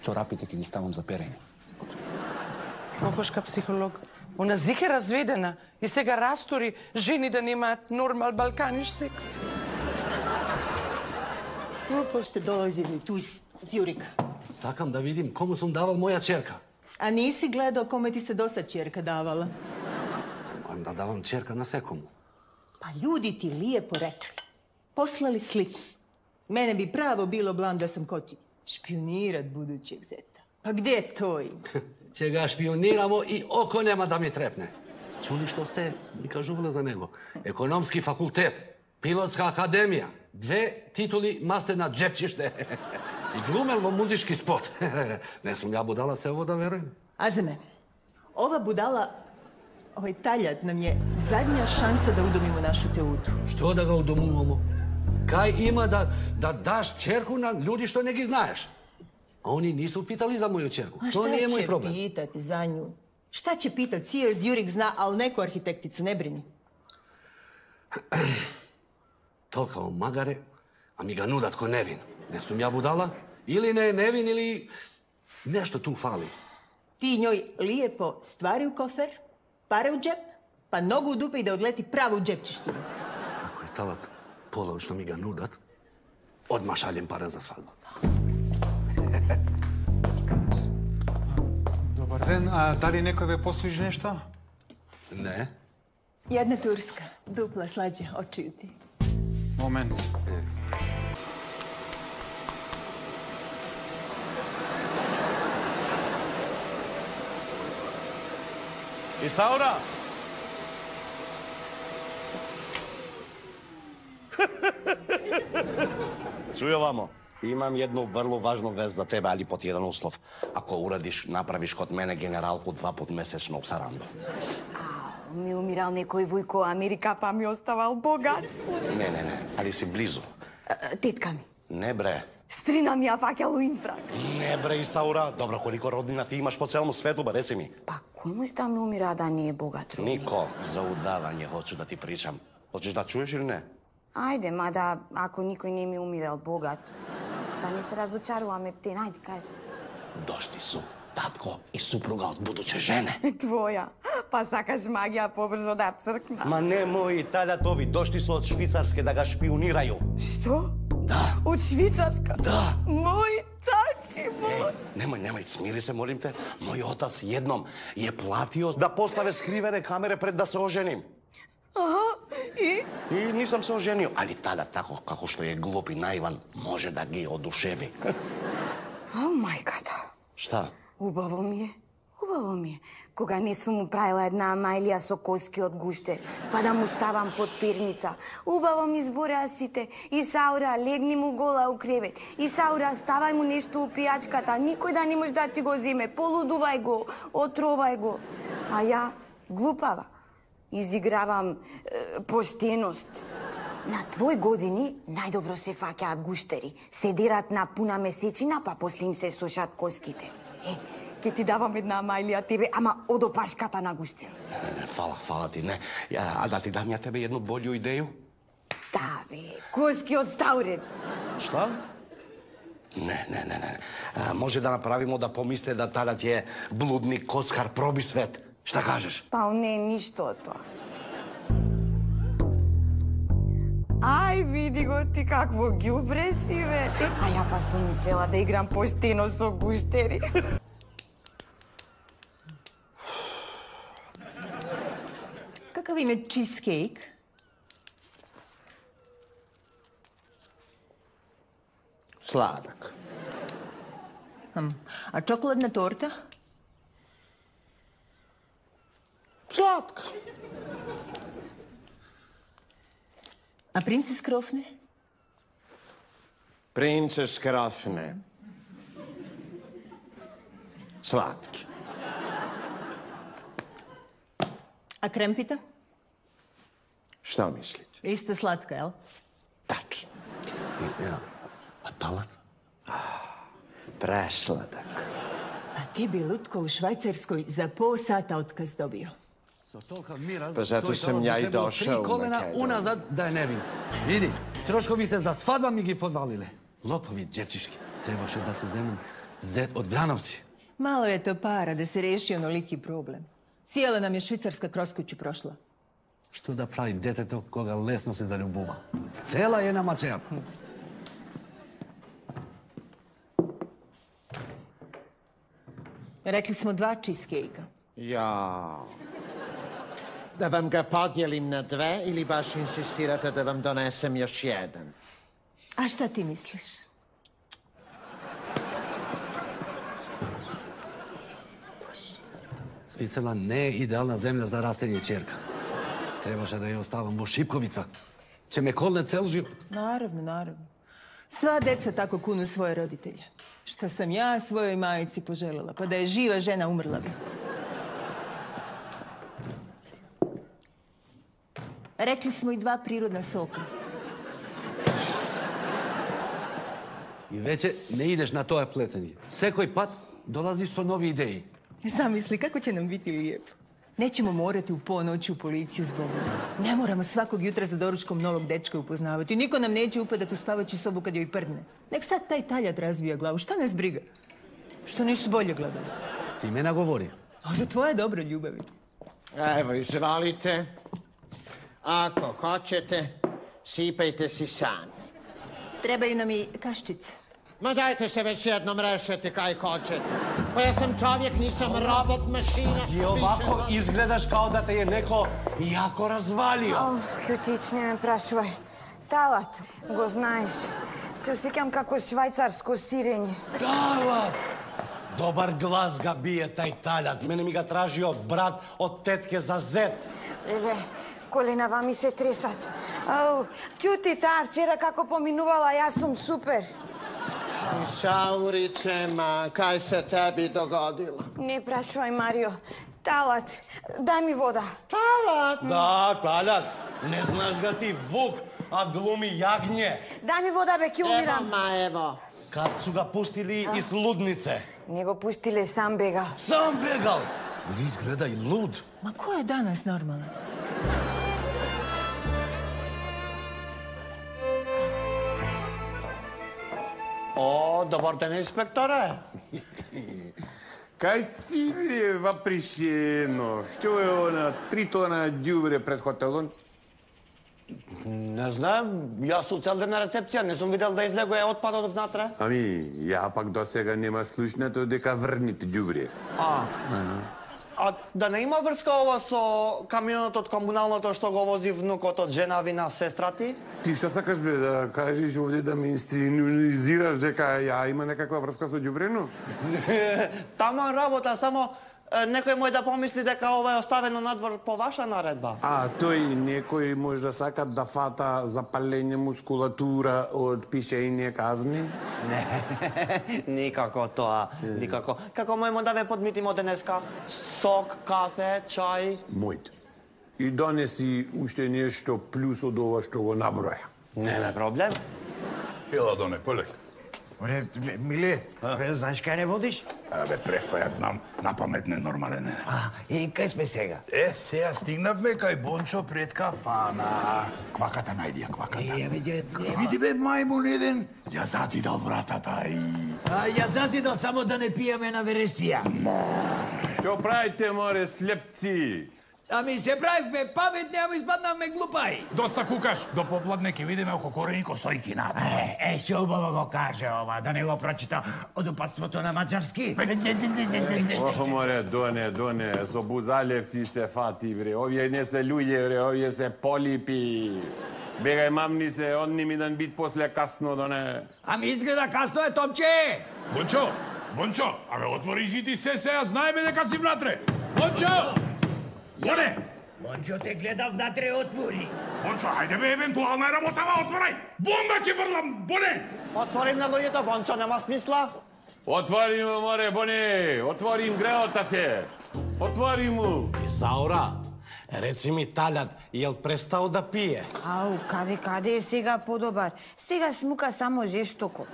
Чорапите ќе ги ставам за перење. Кокошка психолог. Она зике разведена и сега растори жени да немаат нормал балканиш секс. Ще долази ту из Зјурик. Сакам да видим кому сум давал моја черка. А ниси гледал коме ти се досад черка давала? Мојам да давам черка на секому. Па ljudi ti lijepo rekli. Poslali sliku. Mene bi pravo bilo blam da sam ko ti špionirat budućeg zeta. Pa gdje to ima? Ќе ga шпионирамо и око нема да ми трепне. Чули што се ми кажувале за него? Економски факултет, пилотска академија, 2 титули мастер на джепчиште. И глумел во музички спот. Не сум ја будала се ово да веруjem. Azeme, ova budala, ovaj taljat nam je zadnja šansa da udomimo našu teutu. Што да ga удомувамо? Кај има да даш черку на луѓи што не ги знаеш? A oni nisu pitali za moju čerku. To nije moj problem. Šta će pitati za nju? Šta će pitati? Cijel Zjurik zna, ali neku arhitekticu, ne brini. Tolika on magare, a mi ga nudat ko nevin. Ne sum ja budala? Ili ne nevin, ili nešto tu fali. Ti njoj lijepo stvari u kofer, pare u džep, pa nogu u dupe i da odleti pravo u džepčištinu. Ako je talat polov što mi ga nudat, odmah šaljem pare za svadbu. Добар ден, а дали некој ве послужи нешто? Не. Jedna turska, dupla slađe, očiju ti. Момент. Исаура! Чуј овамо. Имам едну врло важну вест за тебе, али под еден услов. Ако урадиш, направиш код мене генералку 2 пат месечно у Сарандо. Ми умирал некој војко Америка, па ми оставал богатство. Не, али си близу. Тетка ми. Не бре. Стрина ми ја фаќал у инфрак. Не бре, Исаура. Добро, колико роднина ти имаш по целом свету, ба реци ми. Па, кој може да ми умира да не е богат роднина? Нико, за удавање хочу да ти причам. Хочеш да чуеш или не? Ајде, мада, ако никој не ми умирал богат, да не се разочаруваме птен, ајде, кажи. Дошли су татко и супруга од будуче жене. Твоја. Па сакаш магија побрзо да цркна. Ма не мои талјатови, дошли су од Швицарске да га шпионирају. Што? Да. Од Швицарска? Да. Мој таци, мој. Немој, смири се, молим те. Мој отац едном е платио да поставе скривене камере пред да се оженим. Аха, и? И нисам се оженио, али таля тако како што е глуп и наиван, може да ги одушеви. А, мајката. Шта? Убаво ми е. Убаво ми е. Кога не сум му правила една мајлија со коски од гуштер, па да му ставам под перница. Убаво ми збореа сите. Исаура, легни му гола у кревет. Исаура, ставај му нешто у пијачката. Никој да не може да ти го земе. Полудувај го, отровај го. А ја, глупава, изигравам поштеност. На твој години најдобро се фаќаат гуштери. Се дерат на пуна месечина, па после им се сушат коските. Ке ти давам една мајлија тебе, ама од опашката на гуштер. Фала ти, не. А да ти дам ја тебе едну болju идеju? Да, бе, коски од стаурец. Шта? Не. Може да направимо да помисле да талят е блудник, коцкар, проби свет. Шта кажеш? Па не, ништо тоа. Ај, види го ти какво ѓубре си, бе. А ја па сум мислела да играм поштено со гуштери. Какав им е чизкейк? Сладък. А чоколадна торта? Сладка. А принцес Крофне? Принцес Крофне. Slatki. A krempita? Šta mislite? Isto slatka, jel? Tačno. Ja, a talat? Presladak. A ti bi Lutko u Švajcarskoj za pol sata otkaz dobio. Pa zato sam ja i došao u 3 kolena Makedoniju. unazad da je ne vidim. Vidi, troškovite za svadba mi gi podvalile. Lopovi džepčiški. Trebaše da se zemem zet od Vranovci. Malo je to para da se reši onoliki problem. Cijela nam je Švicarska kroz kuću prošla. Što da pravi deteto koga lesno se zaljubува? Cela je na macea. Rekli smo 2 cheesecake-a. Ja. Da vam ga podijelim na 2 ili baš insistirate da vam donesem još jedan? A šta ti misliš? Sviceland ne je idealna zemlja za rastenje čerka. Trebaše da je ostavam u Šipkovica. Će me kolne cel život. Naravno, naravno. Sva deca tako kunu svoje roditelje. Šta sam ja svojoj majici poželjela, pa da je živa žena umrla bi. Rekli smo i 2 prirodna soka. I veće ne ideš na to pletenje. Sekoj pat dolaziš sa novi ideji. Zamisli kako će nam biti lijepo. Nećemo morati u ponoć u policiju zbog ovoga. Ne moramo svakog jutra za doručkom novog dečka upoznavati. Niko nam neće upadati u spavaću sobu kad joj prdne. Nek sad taj taljat razvija glavu. Šta nas briga? Što nisu bolje gledali? Ti me nagovori. A za tvoje dobro ljubavi. Evo, izvalite. Ako hoćete, sipajte si sami. Trebaju nam i kaščice. Ma dajte se već jednom rešete kaj hoćete. Pa ja sam čovjek, nisam robot, mašina. Ti ovako izgledaš kao da te je neko jako razvalio. Kjutić, ne me prašvaj. Talat, го знаеш. Се осеќам како швајцарско сирење. Talat! Dobar glas ga bije taj taljat. Mene mi ga tražio brat od tetke za zet. Леле, коленава ми се тресат. Ау, Кјути, таа вчера како поминувала, јас сум супер. Šaurice, ma, kaj se tebi dogodilo? Не прашувај, Марио. Талат, дај ми вода. Talat? Da, taljat. Ne znaš ga ti Vuk, a glumi jagnje. Дај ми вода, бе, ќе умирам. Evo. Kad su ga pustili iz ludnice. Не го пуштиле, сам бега. Sam begal. Vidi izgleda i lud. Ma ko je danas normalan? О, добар ден, инспекторе. Кај си, бре, вапришено? Што е она 3 тона ѓубре пред хотелот? Не знам, јас сум цел ден на рецепција, не сум видел да излегува отпадот внатре. Ами, ја пак до сега нема слушнато дека врните ѓубре. А да не има врска ова со камионот од комуналното што го вози внукот од женави на сестра ти? Ти што сакаш, бре, да кажеш овде да ме инсценизираш дека ја има некаква врска со ѓубрено? Тама работа, само некој мој да помисли дека ова е оставено надвор по ваша наредба. А тој некој може да сака да фата запалење мускулатура од пишење казни? Не, никако тоа, никако. Како мојмо да ве подмитимо денеска? Сок, кафе, чај? Мојте. И донеси уште нешто плюс од ова што го наброја. Нема проблем. Пила доне, полек. Оре, Миле, знаеш кај не водиш? Абе, преспа, јас знам, на памет ненормален е. И кај сме сега? Сега стигнавме кај Бончо пред кафана. Кваката најди ја, кваката. Ја види, Види бе, мајмун еден, ја зацидал вратата и... Ја зазидал само да не пијаме на вересија. Што правите, море, слепци? Ами се правивме паметни, ама испаднавме глупаи. Доста кукаш, до попладне ќе видиме око корени косојки надо. Што убаво го каже ова, да не го прочита од упатството на мачарски. Ох, море, доне, со бузалевци се фати, бре. Овие не се луѓе, бре, овие се полипи. Бегај, мамни се, одни ми дан бит после касно, доне. Ами изгледа касно е, Томче! Бончо, абе, отвори жити се, сега знаеме дека си внатре. Бончо! Боне! Бончо те гледа внатре, отвори. Бончо, ајде бе, евентуална е работава, отворај! Бомба ќе врлам, Боне! Отворим на луѓето, Бончо, нема смисла. Отвори му, море, Боне! Отвори им греота се! Отвори му! Исаура, реци ми талјат, јел престал да пие? Ау, каде е сега подобар? Сега шмука само жестоко.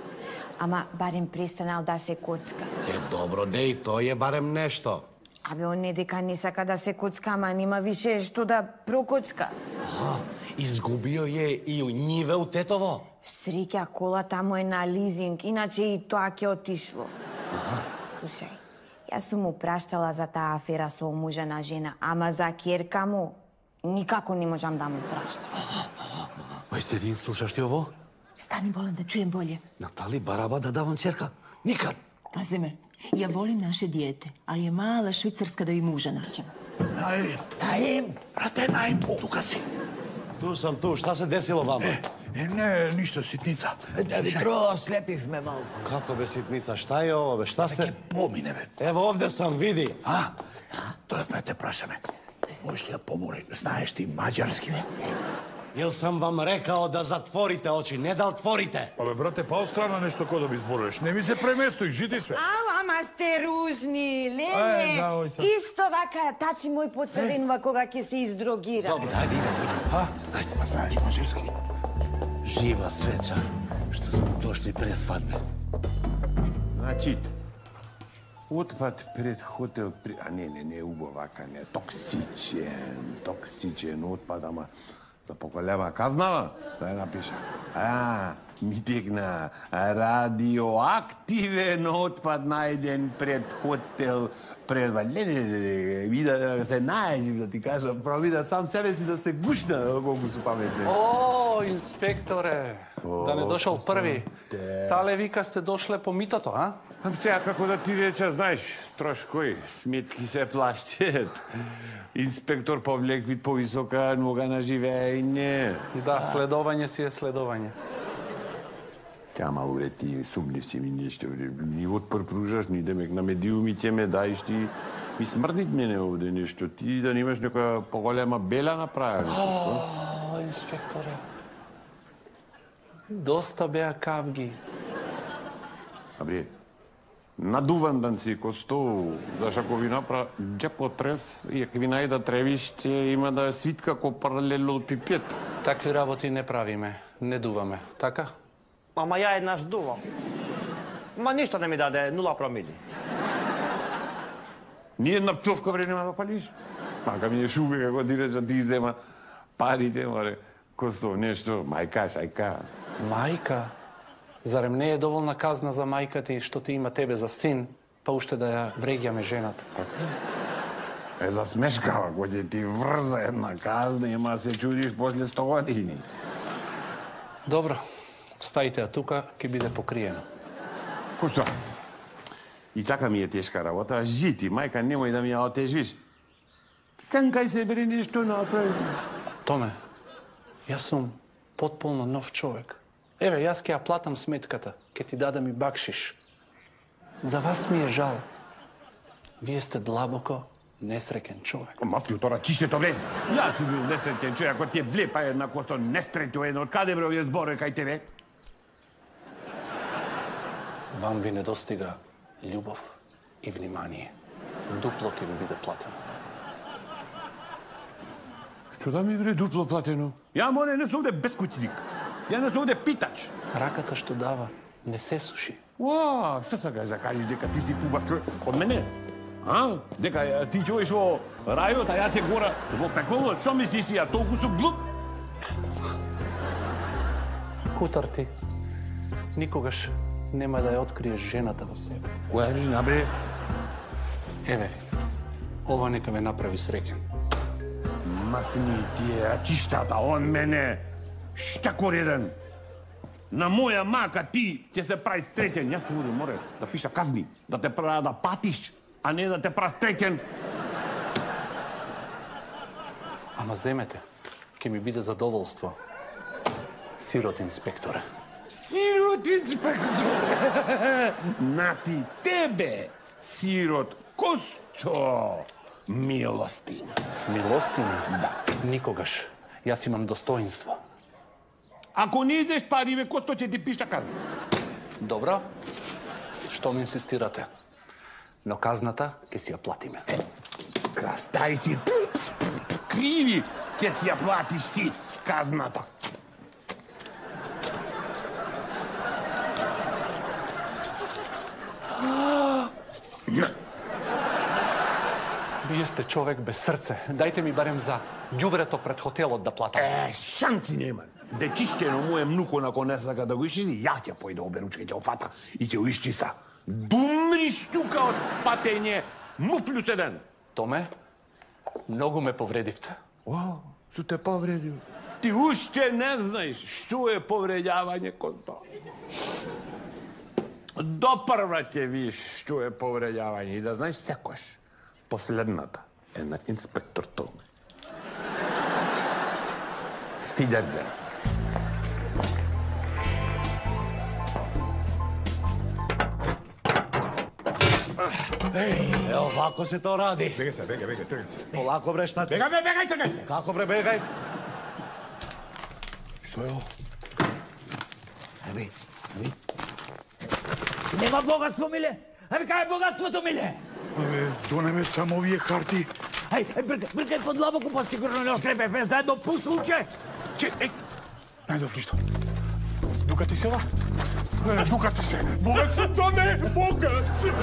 Ама барем престанал да се коцка. Добро, деј, тој е барем нешто. Абе, он не дека не сака да се коцка, ама нема више што да прокоцка. Изгубио е и у ниве у тетово. Среќа, колата му е на лизинг, иначе и тоа ќе отишло. Слушај, јас сум му праштала за таа афера со омужена жена, ама за керка му никако не можам да му праштам. Па сте ви слушаш ти ово? Стани болен да чуjem bolje. Натали бараба да давам черка? Никад. Аземе, ја волим наше диете, ali je mala švicarska da i muža nađemo. Наим, брате, Наим, тука си. Ту сам ту, шта се десило вама? Не, ништо, ситница. Да ви проослепивме малку. Како бе ситница, шта е ово бе, шта сте? Помине бе. Ево овде сам, види. Дојавме те прашаме. Можеш ли да помори? Знаеш ти маđarски бе? Јел сам вам рекао да затворите очи, не да отворите. Абе, брате, па острана нешто кој да би зборуваш. Не ми се преместој, жити све. Ама сте ружни, да, Лене. ој са. Исто вака, таци мој подсаденува кога ќе се издрогира. Добро, ајде, иде. Ајде, па знаеш маđarски. Жива среќа што сме дошли пред свадбе. Значи, отпад пред хотел, а не, убаво вака, не, токсичен отпад, ама за поголема казнава, да ја напиша. Ми текна радиоактивен отпад најден пред хотел, пред... вида се најден, да ти кажам, провидат сам себе си да се гушна, колку су паметни. О, инспекторе, да не дошол први. Тале вика сте дошле по митото, а? Ам сега како да ти реча, знаеш, трошкој, сметки се плащат. Инспектор повлек вид повисока нога на живење. Да, следовање си е следовање. Тя малу ре ти сумнив си ми нешто, ни отпор пружаш, ни демек на медиумите ме даиш ти. Ми смрдит мене овде нешто, ти да немаш нека поголема бела направи. О, инспекторе. Доста беа кавги. Абре, надуван дан си ко стол, зашто ако ви направа джепотрес и ако ви најда тревиште, има да свитка ко паралелопипед. Такви работи не правиме, не дуваме, така? Ама ја еднаш дувам. Ма ништо не ми даде, 0 промили. Ни една пцовка бре нема да палиш. Мака ми е шубе како ти реча, ти зема парите, море. Косто, нешто, мајка, шајка. Мајка? Зарем не е доволна казна за мајка ти што ти има тебе за син, па уште да ја вреѓаме жената? Така. Засмешкава, кој ќе ти врза една казна, има се чудиш после 100 години. Добро, стајте ја тука, ќе биде покриено. Кошто? И така ми е тешка работа, жити, мајка, немој да ми ја отежвиш. Канкај се бре нешто направи. Томе, јас сум потполно нов човек. Еве, јас ќе ја платам сметката, ќе ти дадам и бакшиш. За вас ми е жал. Вие сте длабоко несреќен човек. Ма флютора, чиштето, бре! Јас сум бил несреќен човек, ако ти е влепа една косто несреќо едно, од каде бре овие зборови кај тебе? Вам ви недостига љубов и внимание. Дупло ќе ви биде платено. Што да ми бре дупло платено? Ја, море, не сум овде бескуќник. Ја не сум овде питач. Раката што дава не се суши. Уа, што сакаш да кажеш дека ти си пубав човек од мене? А? Дека ти ќе одиш во рајот, а ја ќе гора во пеколот? Што мислиш ти, ја толку су глуп? Кутар ти. Никогаш нема да ја откриеш жената во себе. Која жена, бре? Еве, ова нека ме направи среќен. Махни тие рачиштата од мене. Штакор еден. На моја мака ти ќе се прави среќен. Јас овде море да пиша казни, да те правя да патиш, а не да те прави среќен. Ама земете, ќе ми биде задоволство. Сирот инспекторе. Сирот инспекторе! Нати тебе, сирот Косто, милостина. Милостина? Да. Никогаш. Јас имам достоинство. Ако не изеш пари, бе, Косто ќе ти пиша казна. Добро. Што ме инсистирате? Но казната ќе си ја платиме. Крастајци, криви, ќе си ја платиш ти казната. Вие сте човек без срце. Дајте ми барем за ѓубрето пред хотелот да платам. Шанци нема. Дечишкено му е мнуко на не сака да го исчисти, ја ќе појде оберучка, ќе офата и ќе го исчиста. Думри штука од патење, му плюс 1. Томе, многу ме повредивте. О, су те повредил. Ти уште не знаеш што е повредјавање кон тоа. Допрва ќе видиш што е повредјавање и да знаеш секош. Последната е на инспектор Томе. Фидерден. Ево, вако се то ради. Бегај се, тргај се. Полако бре, шта ти? Бегај, тргај се. Како бре, бегај? Што е ово? Аби. Нема богатство, миле. Аби, кај е богатството, миле? Абе, донеме само овие карти. Ај, бркај под лабоку, па сигурно не ослепе, заедно пусулче. Најдов ништо. Дукати се ова? Дукати се. Богат сум, Тоне, богат сум.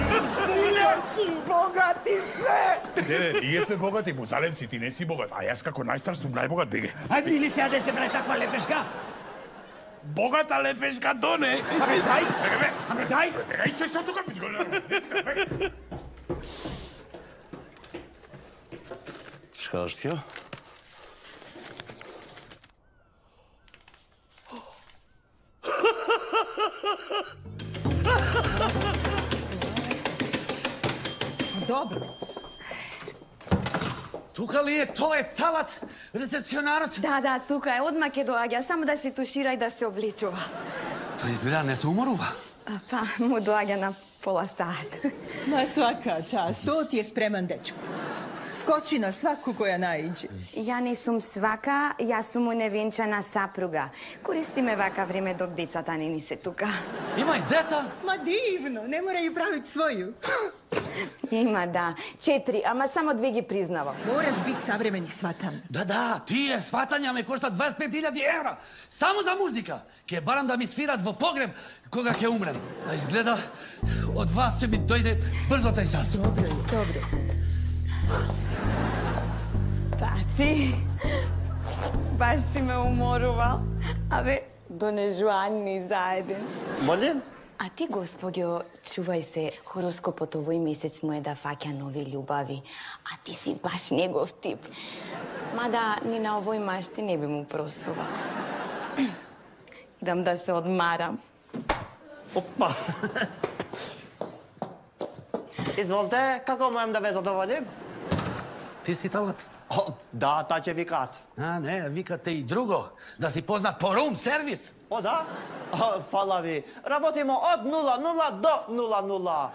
Миле, богати сме. Не, ние сме богати, Бузалевци, ти не си богат. А јас како најстар сум најбогат, беге. Ај, мили сега да се прави таква лепешка. Богата лепешка, Тоне. Абе, дај. Абе, дај. Бегај се тука, питко. Шкаштјо? Dobro. Тука ли е? Тоа е талат, рецепционарот? Да, тука е. Одма ќе доаѓа, само да се тушира и да се обличува. Тој изгледа не се уморува. Па, му доаѓа на пола сат. Ma svaka čast, to ti je spreman dečko. Skoči na svaku koja naiđe. Ја не сум свака, јас сум уневенчана сапруга. Користиме вака време док децата не ни се тука. Има и деца? Ma divno, ne moraju praviti svoju. Има, да. 4, ама само 2 ги признавам. Moraš biti savremeni shvatan. Да, тие сватања ме коштат 25.000 евра. Само за музика. Ке барам да ми свират во погреб кога ќе умрем. А изгледа од вас ќе ми дојде брзо тај час. Dobro. Таци, баш си ме уморувал. Абе, донежуанни заеден. Молим? А ти, господјо, чувај се, хороскопот овој месец му е да фаќа нови љубави, а ти си баш негов тип. Мада ни на овој машти не би му простува. Идам да се одмарам. Опа! Изволте, како можам да ве задоволим? Ти си талат? Да, та ќе викаат. А, не, викате и друго. Да си познат по рум сервис. О, да? Фала ви. Работиме од 00 до 00.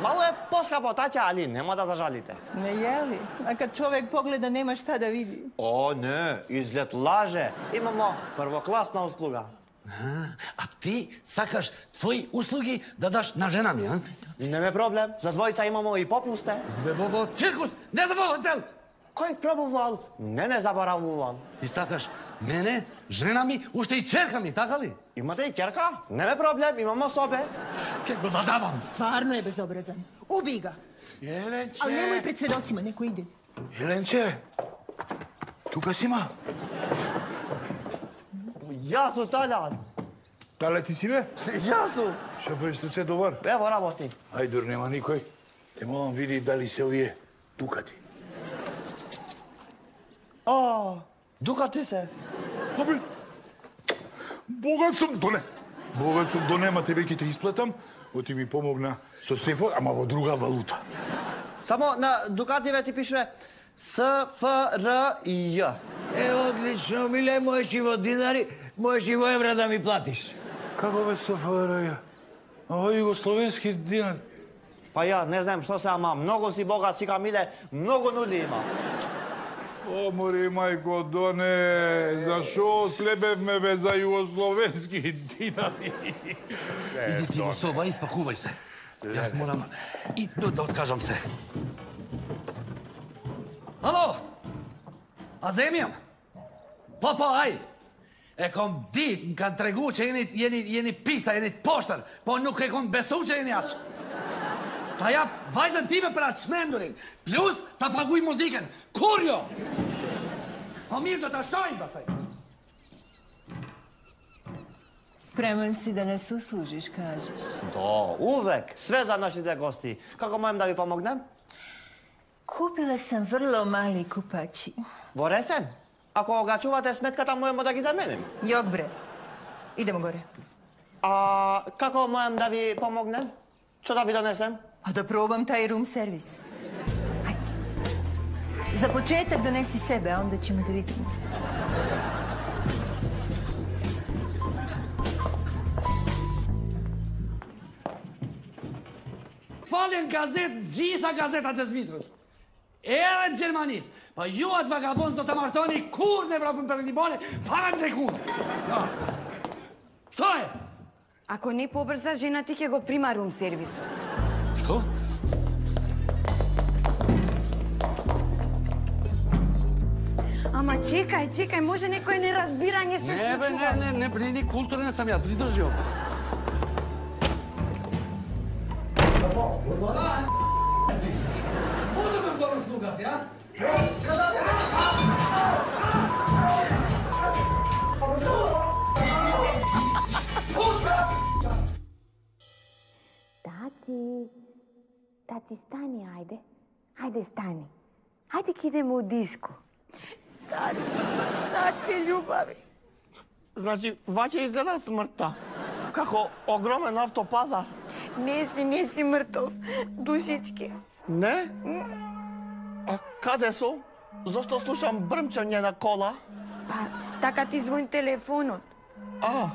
Мало е поскапо, таќа, али нема да зажалите. Ne jeli? A kad čovek pogleda, nema šta da vidi. О, не, изглед лаже. Имамо првокласна услуга. А ти сакаш твои услуги да даш на жена ми, а? Неме проблем. За двојца имамо и попусте. Збебово циркус, не за во хотел! Кој пробувал, не заборавувал. Ти сакаш мене, жена ми, уште и черка ми, така ли? Имате и керка? Неме проблем, имамо собе. Ке го задавам. Stvarno je bezobrazan. Ubij ga. Jelenče! Ali nemoj pred svedocima, neko ide. Jelenče! Тука си ма? Јас сум Талјан. Тале ти си бе? Јас сум. Што правиш се добар? Ево работи. Ајдор, нема никој. Те молам види дали се овие дукати. О, дукати се. Абе, богат сум, Доне. Богат сум, Доне, ама тебе ќе те исплатам. Оти ми помогна со сефот, ама во друга валута. Само на дукативе ти пише СФРИ. Одлично, миле, можеш и во динари, можеш и во евра да ми платиш. Како бе СФРИ? Ова е југословенски динар. Па ја, не знам што се, ама многу си богат, сика Миле, многу нули има. О, мори, мајко, Доне, зашо слебевме бе за југословенски динари? Иди ти во соба и спакувај се. Јас морам и да откажам се. Ало! А земјам? Папа, ај! Еком dit, kan treguće jeni pisa, jeni poštar, po nuk e kom besuće jeni aq. Ta ja vajzën time për atë shmendurin, plus ta paguj muziken, kur jo? Po mirë do ta shojmë pastaj. Spreman si da nas uslužiš, kažeš. Да, увек, све за нашите гости. Како можем да ви помогнем? Kupila sam vrlo mali kupači. Во ресен? Ако ga чувате сметката, можеме да ги заменим. Jok bre, idemo gore. А како можем да ви помогнем? Што да ви донесем? A da probam taj room servis. Ajde. Za početak donesi sebe, a onda ćemo da vidimo. Falen gazet, gjitha gazetat e Zvicrës. Edhe Gjermanis. Pa ju atë vagabond do të martoni kur në Evropën Perëndimore, para në kur. Што е? Ако не побрза, жена ти ќе го прима рум сервисот. Што? Ама чекај, може некој неразбирање се Не, бе, случува. не, блини, културен сам ја, придржи око. Буду ме второ слугат, ја? Тати, стани, ајде. Ајде, стани. Ајде, ки идеме у диско. Тати, љубави. Значи, ваќе изгледа смртта. Како огромен автопазар. Не си мртов. Душички. Не? А каде сум? Зошто слушам брмчање на кола? Па, така ти звони телефонот. А.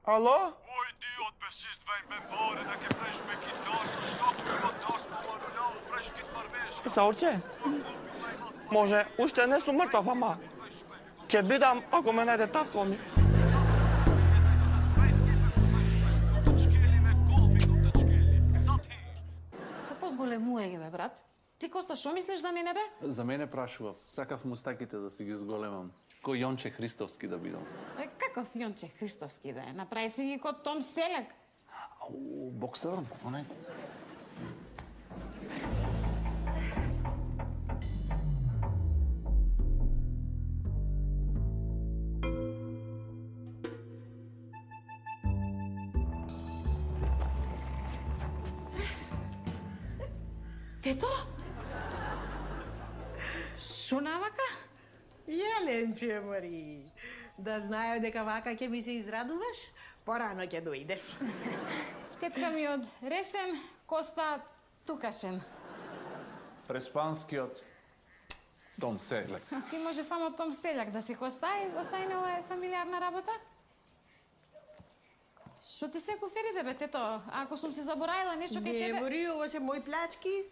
Ало? Oj, idiot, besist vejn me bare, da ke fresh me kitar, shkop me batas, po më lau, fresh kit marvesh. Саурче? Може, уште не сум мртов, ама ќе бидам ако ме најде татко ми. Како зголемување, бе, брат? Ти, Коста, што мислиш за мене, бе? За мене прашував, сакав мустаките да си ги зголемам. Кој Јонче Христовски да бидам. Каков Јонче Христовски, бе? Направи си ги код Том Селек. Ау, боксер, оне. Тето? Шо навака? Јеленче, Мари. Да знаев дека вака ќе ми се израдуваш, порано ќе дојдеш. Тетка ми од Ресен, Коста Тукашен. Преспанскиот Том Селек. Ти може само Том Селјак да си Коста и остави на ова фамилиарна работа? Што ти се куферите, бе, тето? Ако сум се заборавила нешто кај тебе... Не, Мари, ова се мои плачки.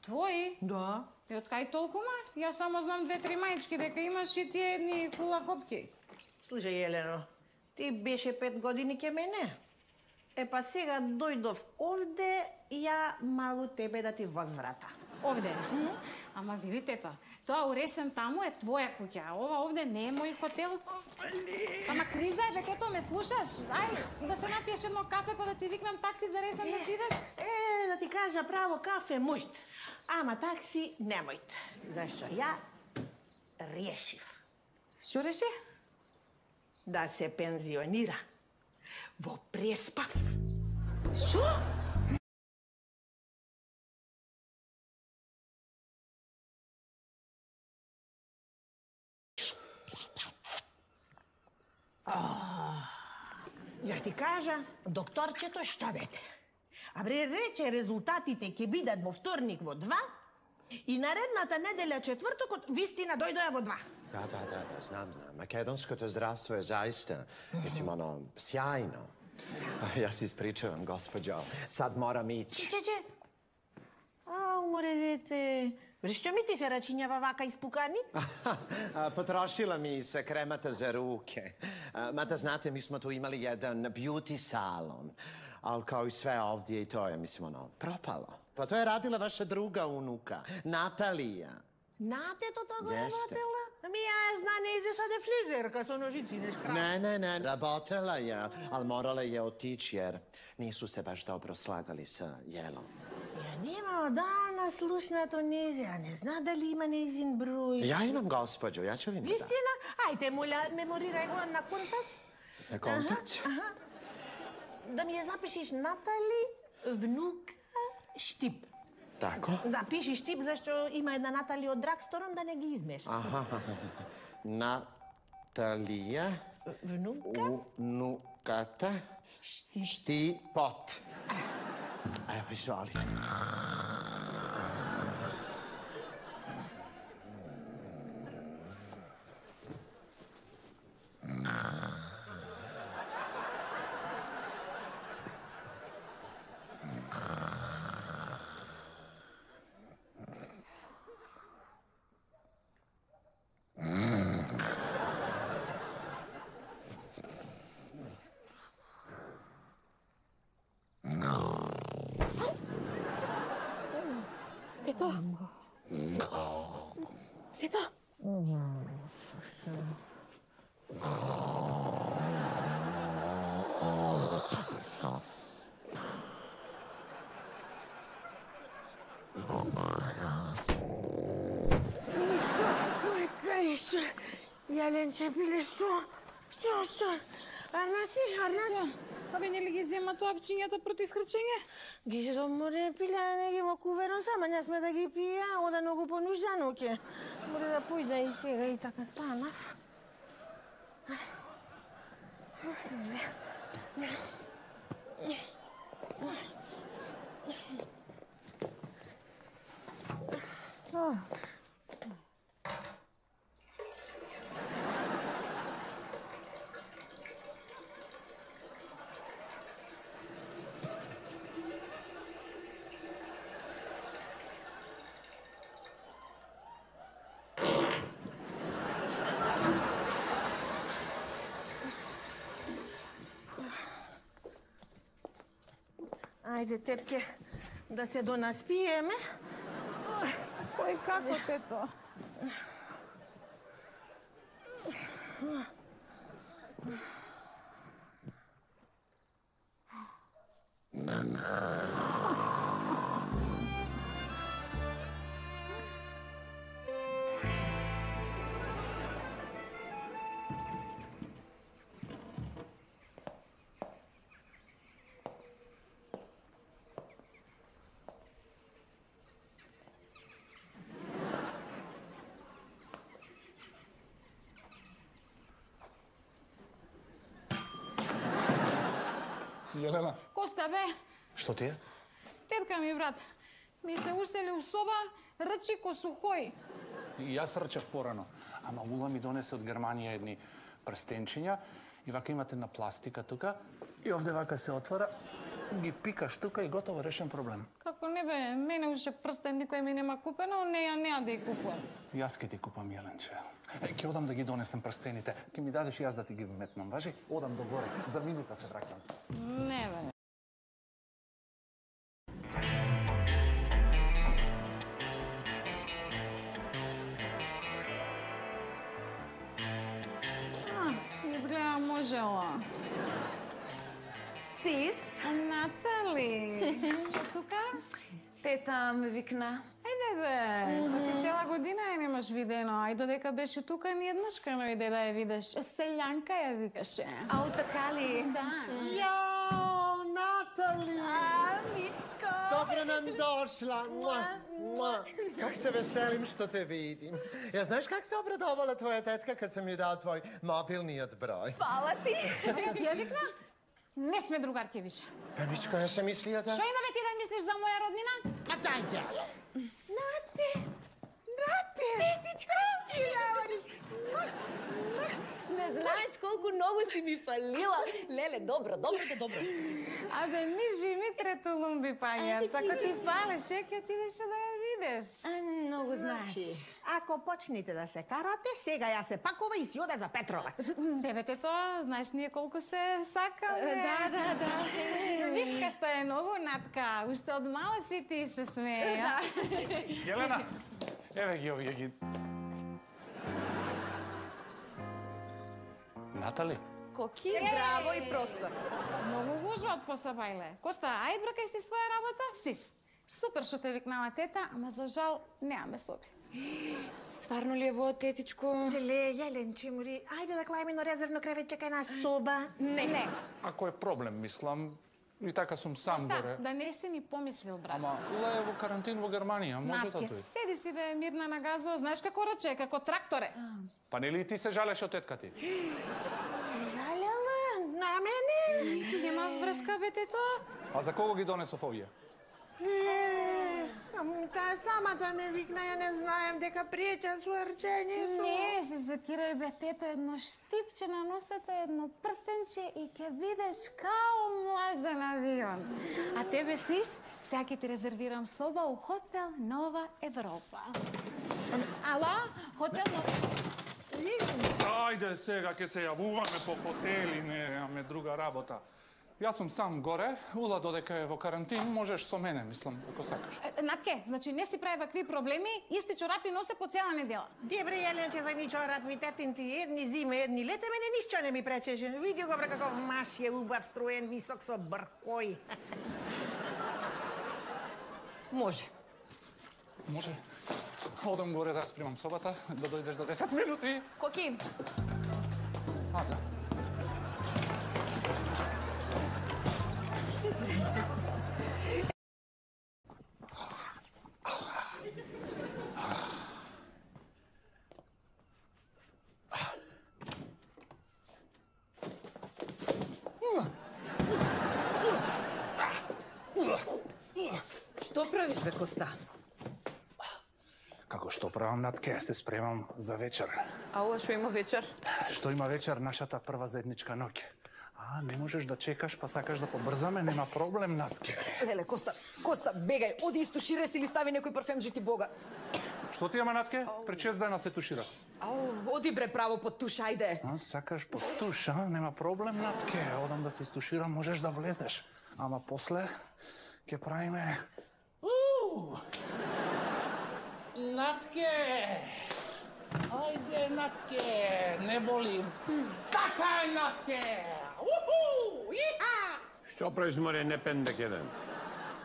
Твои? Да. И од кај толкума? Јас само знам 2-3 мајчки дека имаш и тие едни хулахопки. Слушај, Елено, ти беше 5 години ке мене. Па сега дојдов овде, ја малу тебе да ти возврата. Овде? Ама види, тето, тоа уресен таму е твоја куќа, а ова овде не е мој хотел. Ама криза е, бе, ето ме слушаш? Ај, да се напиеш едно кафе, па да ти викнам такси за Ресен да си идеш? Да ти кажа право, кафе мојт, ама такси не мојт. Зашто ја решив. Што реши? Да се пензионира во преспав. Што? Ја ти кажа, докторчето што вете. А бре, рече резултатите ќе бидат во вторник во 2 и наредната неделја четвртокот вистина дојдоја во 2. Да, знам. Македонското здравство е заista, mislim, sjajno. Јас испричувам, госпоđo. Сад морам иći. Че. Уморе, дете. Што ми ти се рачињава вака испукани? Потрошила ми се кремата за руке. Мата, знате, ми смо tu imali jedan beauty salon. Ali kao i sve ovdje i to je, mislim, ono, propalo. Pa to je radila vaša druga unuka, Natalija. Натето го Jeste. работела? Ами ја зна, не изе саде фризерка со ножици, неш крав. Ne, работела je, ali morala je otići jer nisu se baš dobro slagali sa jelom. Ја нема одавна слушнато незе, а не зна дали има незин број. Ja imam gospođu, ja ću vi mi dati. Вистина? Ајде, моля, меморирај го на контакт. Na kontakt? Да ми ја запишеш Натали, внука, Штип. Tako? Да, пиши Штип, зашто има една Натали од Драгсторон, да не ги измешаш. Aha, Natalija, unukata, Štipot. Evo, izvoli. Ето. Ето. Што? Јаленче, биле што? Што? Арнаси? Абе, нели ги зема тоапчињата против хрчење? Ги се море пиле, не ги во куверон сама, не сме да ги пие, ода многу понуждано ќе. Море да појда и сега и така станав. Ајде, тетке, да се донаспиеме. Кој како, тето? Јелена. Коста, бе, Што ти е? тетка ми, брат, ми се усели у соба, рчи ко сухој. И јас рчев порано. Ама Ула ми донесе од Германија едни прстенчиња и вака имате на пластика тука и овде вака се отвора, ги пикаш тука и готово, решен проблем. Како не бе, мене уште прстен никој ми нема купено, неа да ја купувам. Јас ке ти купам, Јеленче. Ке одам да ги донесам прстените. Ке ми дадеш јас да ти ги метнам, важи? Одам до горе. За минута се враќам. Не бе. Изгледа можела. Сис? Натали, што тука? Тета ме викна. Ајде бе, ти цела година ја немаш видено, ај додека беше тука ни еднашка не иде да ја видиш. Селјанка ја викаше. Ау, така ли? Да. Jao, Natali! Mitko! Dobro nam došla. Kak se veselim što te vidim. Ja, znaš kak se obradovala tvoja tetka kad sam joj dao tvoj mobilni broj? Hvala ti! Ти ја викна? Не сме другарки више. Pa Mičko, ja sam mislio da... Што има бе ти да мислиш за моја роднина? Ma daj ja! Нате! Тетичко! Не знаеш колку Многу си ми фалила. Леле, добро. Абе, мижи ми трето лумби паѓа. Така ти фалеше, ќе отидеш да ја видиш. Многу знаеш. Ако почнете да се карате, сега ја се пакува и си оде за Петровац. Дебете тоа, знаеш ние колку се сакаме. Да. Вицкаста е многу, Натка. Уште од мала си ти се смее. Елена, еве ги овие ги. Натали? Коки, здраво и простор. Многу гужва од посабајле. Коста, ај бракај си своја работа, сис. Супер што те викнала тета, ама за жал немаме соби. Стварно ли е во, тетичко? Јеленче мори, ајде да клајме на резервно кревече кај нас соба. Не. Ако е проблем, мислам, и така сум сам Коста, горе. да не си ни помислил, брат. Ама Ула е во карантин во Германија, може да Натке, тој. седи си бе мирна на газо, знаеш како рече, како тракторе. Па нели и ти се жалеш од тетка ти? Жалела на мене? Нема врска, бе, тето. А за кого ги донесов овие? Таа самата ме викна, ја не знаем дека пријача со рчењето. Не, се закирај, бе, тето, едно штипче на носето, едно прстенче и ќе бидеш као млазен авион. А тебе, сис, сега ќе ти резервирам соба у хотел Нова Европа. Ала, хотел Нова... Ајде сега ќе се јавуваме по хотели, немаме друга работа. Јас сум сам горе, Ула додека е во карантин, можеш со мене, мислам, ако сакаш. Натке, значи не си прави вакви проблеми, исти чорапи носе по цела недела. Дебре, Јеленче, за ми чорапи, тетин ти едни зиме, едни лете, мене ништо не ми пречеше. Види го, бре, како маш е убав, строен, висок, со бркој. Може. Може? Одам горе да спремам собата, да дојдеш за 10 минути. Коки, Да. Што правиш, бе, Коста? Како што правам, Натке, се спремам за вечер. а ова што има вечер? Што има вечер, нашата прва заедничка ноќ. А, не можеш да чекаш, па сакаш да побрзаме, нема проблем, Натке. Леле, Коста, бегај, оди истуширај се или стави некој парфем, жити Бога. Што ти ама, Натке? Пред 6 дена се тушира. Оди бре право под туш, ајде. А, сакаш под туш, а? Нема проблем, Натке. Одам да се истуширам, можеш да влезеш. Ама после ќе правиме... Натке! Ајде, Натке! Не боли. Така е, Натке! Уху! Иха! Што правиш, море, не пендек еден?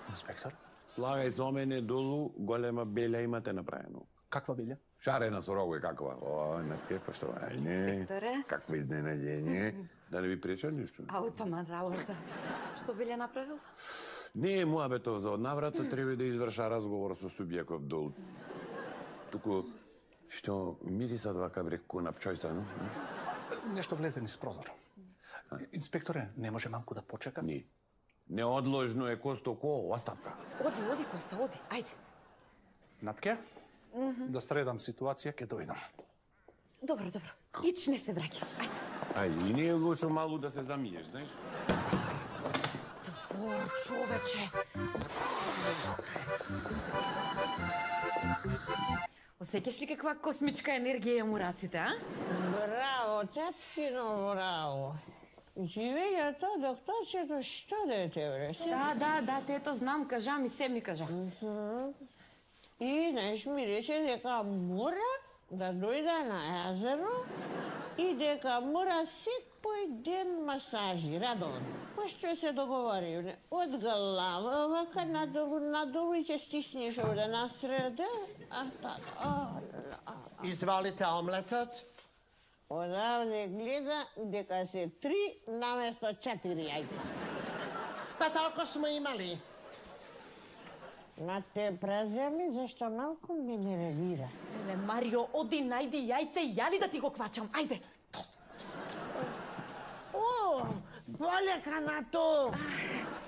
Инспектор? Слагај со мене долу, голема белја имате направено. Каква белја? Шарена со рогови, каква? О, Натке, поштовање. Инспекторе? Какво изненаѓење. Да не ви преча ништо? Таман работа. Што биле направил? Не е муабетов за однаврата, треба да изврша разговор со Субјаков дол. Туку, што мирисат вака бре на пчојса, но? Нешто влезе низ прозор. Инспекторе, не може малку да почека? Не. Неодложно е Косто ко оставка. Оди, Коста, оди, ајде. Натке, да средам ситуација, ќе дојдам. Добро. Ич не се враќа, ајде. Ајде, и не е лошо малу да се замиеш, знаеш? Двор, човече. Осеќаш ли каква космичка енергија имам у раците, а? Браво, теткино, браво. Живењето, докторчето, што дете, бре? Да, тето, знам, кажа ми, се ми кажа. И, знаеш, ми рече дека мора да дојде на езеро и дека мора секој ден масажи, радовно. Па што се договори, од глава, вака надолу и ќе стиснеш овде насреде, Изволите омлетот. Одавде гледа дека се 3 наместо 4 јајца. Па толку сме имали. На те преземи, зашто малку ме нервира. Леле, Марио, оди, најди јајце и ја ли да ти го квачам, ајде. О, полека на то.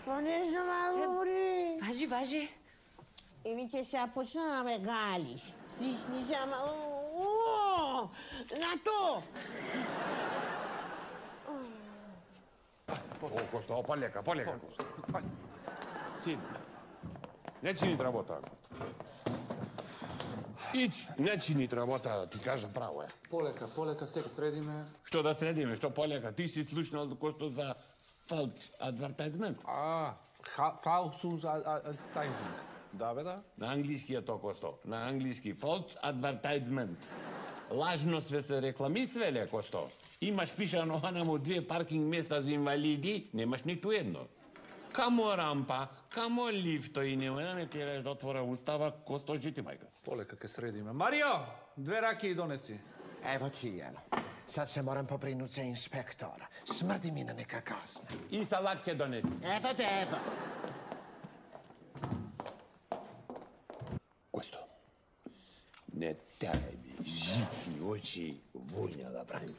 Понежно малу ври. Важи. И ми ќе се почна да ме галиш. Стисни се малу. О, на то. Косто, полека, Косто. Сиди. Не чинит работа. Ич, не чинит работа, ти кажа право е. Полека, сега средиме. Што да средиме, што полека? Ти си слушнал Косто за false advertisement. False advertisement. Да, бе, да. На англиски е то, Косто. На англиски. False advertisement. Лажно се рекламисвеле, Косто. Имаш пишано анаму 2 паркинг места за инвалиди, немаш ниту едно. Камо рампа, камо лифто и нема да ме тераш да отвора устава, Косто, жити, мајка. Полека ке средиме. Марио, 2 раки донеси. Ево ти едно. Сад се морам попринут за инспектора. Смрди ми на нека касна. И салат ќе донеси. Ево те, ево. Косто, не тај ми житни очи војна да прави.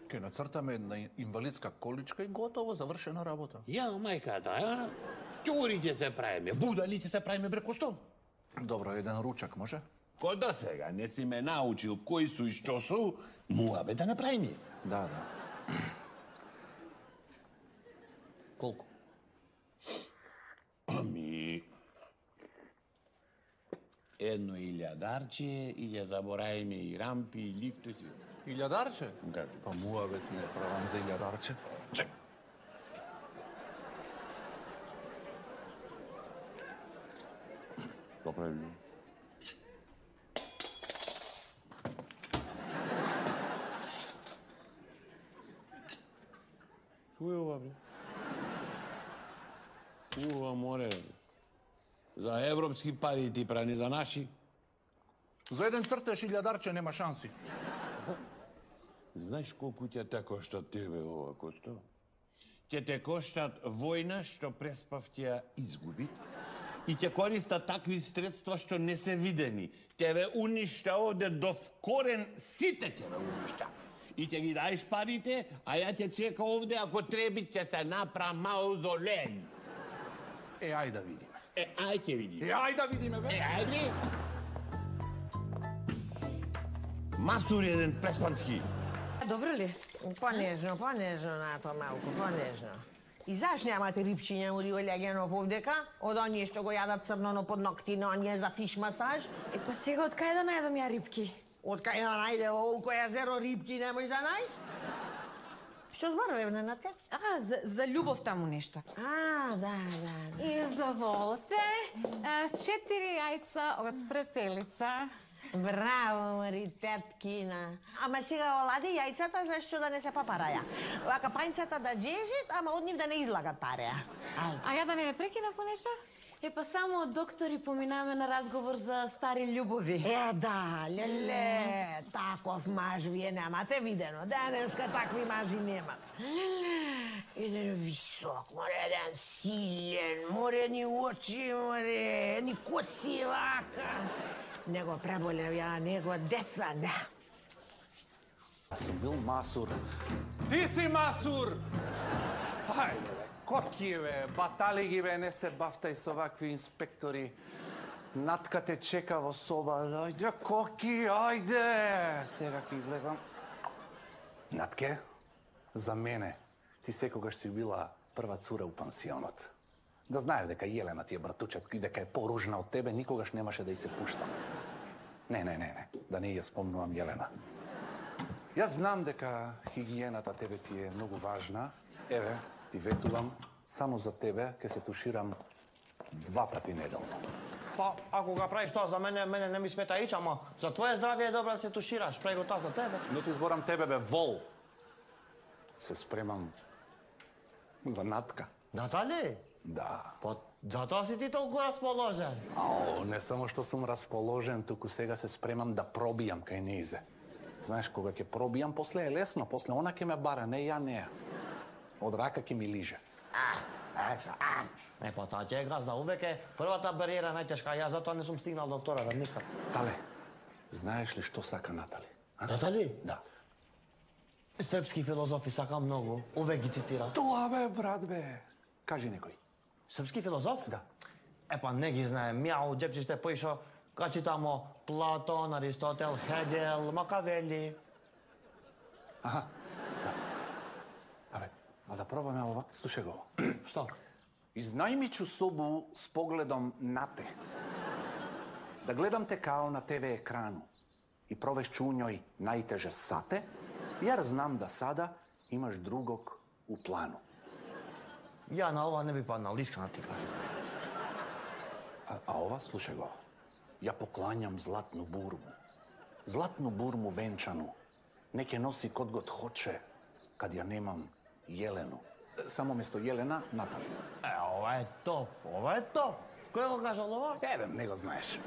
Ке нацртаме една инвалидска количка и готово, завршена работа. Ја, мајката, а? Ќури ќе се правиме, будали ќе се правиме бре Косто. Добро, еден ручак може? Кој до сега не си ме научил кои су и што су, муабе да направиме. Да. Колку? Ами... 1.000 и ја заборавиме и рампи, и лифтоци. 1000? Да. Па муабет не правам за 1000. Чек. Поправи. Што е ова, бе? Ува, море. За европски пари ти прани, за наши. За еден цртеж 1000 нема шанси. Знаеш колку ќе те коштат тебе ова, Косто? Ќе те коштат војна што преспав ќе ја изгуби и ќе користат такви средства што не се видени. Ќе ве уништа оде до вкорен, сите ќе ве уништа. И ќе ги даеш парите, а ја ќе чека овде, ако треби ќе се напра маузолеј. Ај да видиме. Ај ќе видиме. Ај да видиме, бе. Ајде. Масур еден преспански. Добро ли? Понежно на тоа малку, понежно. И заш немате рипчиња му Олегенов овдека? Од оние што го јадат црноно под ногти на оние за фиш масаж? Па сега од кај да најдам ја рипки? Од кај да најде олко јазеро рипки не можеш да најдеш? Што зборуваме на те? За љубов таму нешто. Да. Изволте, 4 јајца од препелица. Браво, Мари, теткина. Ама сега олади јајцата, зашто да не се папараја? Вака пањцата да джежит, ама од нив да не излагат пареа. А ја да не ме прекина по нешто? Па само доктори поминаме на разговор за стари љубови. Да, леле, таков маж вие немате видено. Денеска такви мажи немат. Еден висок, море, еден силен, море, ни очи, море, ни коси вака. Него преболев ја, него деца, не. Аз сум бил масур. Ти си масур! Ајде, бе, коки, бе, батали ги, бе, не се бавтај со вакви инспектори. Натка те чека во соба. Ајде, коки, ајде! Сега ки влезам. Натке, за мене, ти секогаш си била прва цура у пансионот. Да знаеш дека Јелена ти е братучет и дека е поружна од тебе, никогаш немаше да и се пуштам. Не, да не ја спомнувам Јелена. Јас знам дека хигиената тебе ти е многу важна. Еве, ти ветувам, само за тебе ќе се туширам 2 пати неделно. Па, ако го правиш тоа за мене не ми смета ич, ама за твое здравје е добро да се тушираш. Прави го тоа за тебе. Не ти зборам тебе, бе, вол. Се спремам за Натка. Натали? Да. Па, затоа си ти толку расположен. Не само што сум расположен, туку сега се спремам да пробијам кај неизе. Знаеш, кога ќе пробијам, после е лесно, после она ќе ме бара, не ја неа. Од рака ќе ми лиже. Па таа ќе е газда, увек е првата бариера најтешка, јас затоа не сум стигнал до втората никад. Тале, знаеш ли што сака Натали? Натали? Да. Српски филозофи сака многу, увек ги цитира. Тоа бе, брат бе. Кажи некој. Српски филозоф? Да. Па не ги знаем. Мјау, джепчиште поишо, ка читамо Платон, Аристотел, Хегел, Макавели. Аха, да. А да пробаме ова? Слушај го. Што? Изнајми чу собу с погледом на те. Да гледам те као на ТВ екрану и провешчу у њој најтеже сате, јар знам да сада имаш другог у плану. Ја на ова не би паднал, искрено ти кажам. А ова, слушај го. Ја покланjam златну бурму. Златну бурму венчану. Неке носи код год хоче, кад ја немам Јелену. Само место Јелена, Натали. Ова е топ, ова е топ. Кој го кажал ова? Не го знаеш.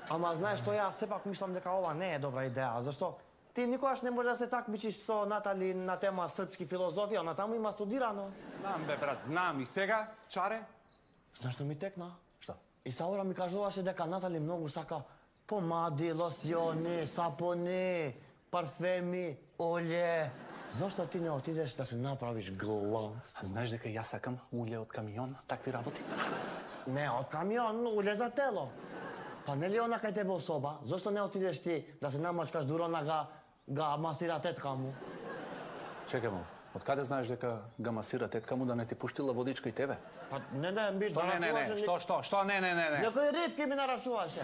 Ама знаеш што, ја сепак мислам дека ова не е добра идеја, зашто ти никогаш не можеш да се такмичиш со Натали на тема српски филозофија, она таму има студирано. Знам бе, брат, знам. И сега, Чаре? Знаеш што ми текна? Што? Исаура ми кажуваше дека Натали многу сака помади, лосиони, сапони, парфеми, олје. Зошто ти не отидеш да се направиш глонц? Знаеш дека јас сакам улје од камион, такви работи? Не од камион, улје за тело. Па нели она кај тебе особа? Зошто не отидеш ти да се намачкаш дурона га масира тетка му? Чекај му, од каде знаеш дека га масира тетка му да не ти пуштила водичка и тебе? Па не, биш Што да не, нарачуваше... Што не? Некои рибки ми нарачуваше.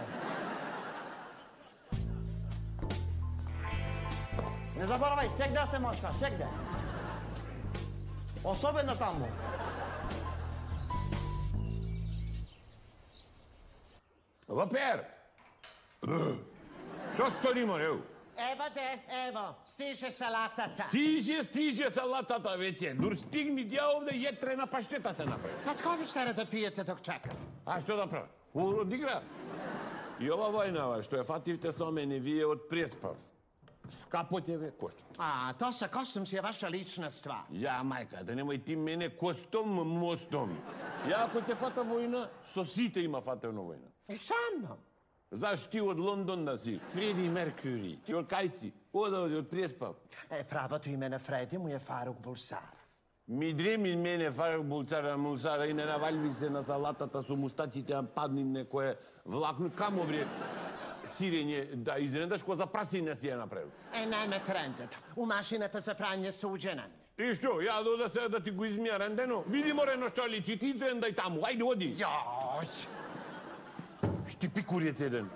Не заборавај, сегде се мачка, сегде. Особено таму. Вапер! Што сторимо, еу? Ево де, ево, стиже салатата. Стиже салатата веќе. Дур стигни ја овде јетрена паштета се направи. Па тко ви стара да пиете док чакат? А што да правам? Одигра. И ова војнава што ја фативте со мене, вие од преспав. Скапо ќе ве кошта. А, то са костом си е ваша лична ствар. Ја, мајка, да немој ти мене костом мостом. Ја, ако ќе фата војна, со сите има фатевна војна. И сам. Заш ти од Лондон да си? Фреди Меркури. Ти од кај си? Од преспав. Правото име на Фреди му е Фарук Булсар. Ми дреми мене Фарук Булсара и не навалви се на салатата со мустаците, падни некое влакно. Камо вре сирење, да изненадаш која за прасина си ја направил. Не ме трендат. У машината за прање суđена. И што, ја дода сега да ти го измија рендено? Види морено што личи, ти изрендај таму, ајде оди. Јој! Шти пикурец еден.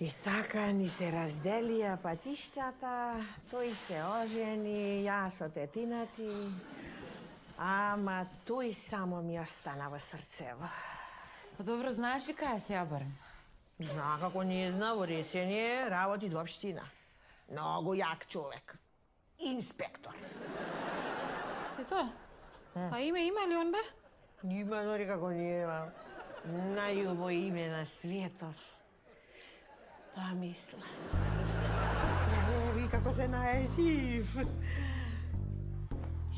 И така ни се разделија патиштата, тој се ожени, јас со тетината, ама тој само ми остана во срцево. Па добро, знаеш ли кај се ја барем? Зна како не зна, во Ресење работи до општина. Многу јак човек. Инспектор. Ето, а име има ли он бе? Има, дори како нема. Најубаво име на светот. Тоа мисла. Еви како се најжив.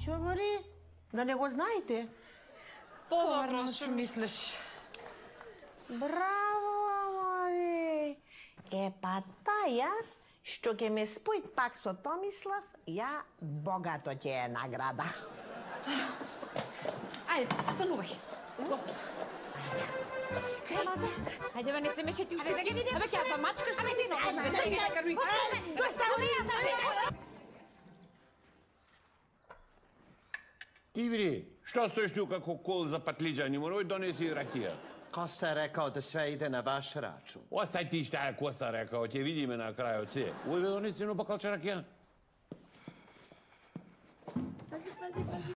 Шо мори? Да не го знаете? Подобро што мислиш. Браво, амори! Па таја, што ќе ме спои пак со Томислав, ја богато ќе е награда. Ајде, станувај. Готово. Чекај малце. Ајде, бе, не се меши ти уште. Абе, ќе ја замачкаш. Абе, ти не знаеш. Ти бри, што стоиш тука како кол за патлиџани, морој донеси ракија. Коста е рекao да све иде на ваш рачун. Остај ти што е Коста рекao, ќе видиме на крајот се. Ојде донеси едно бакалче ракија.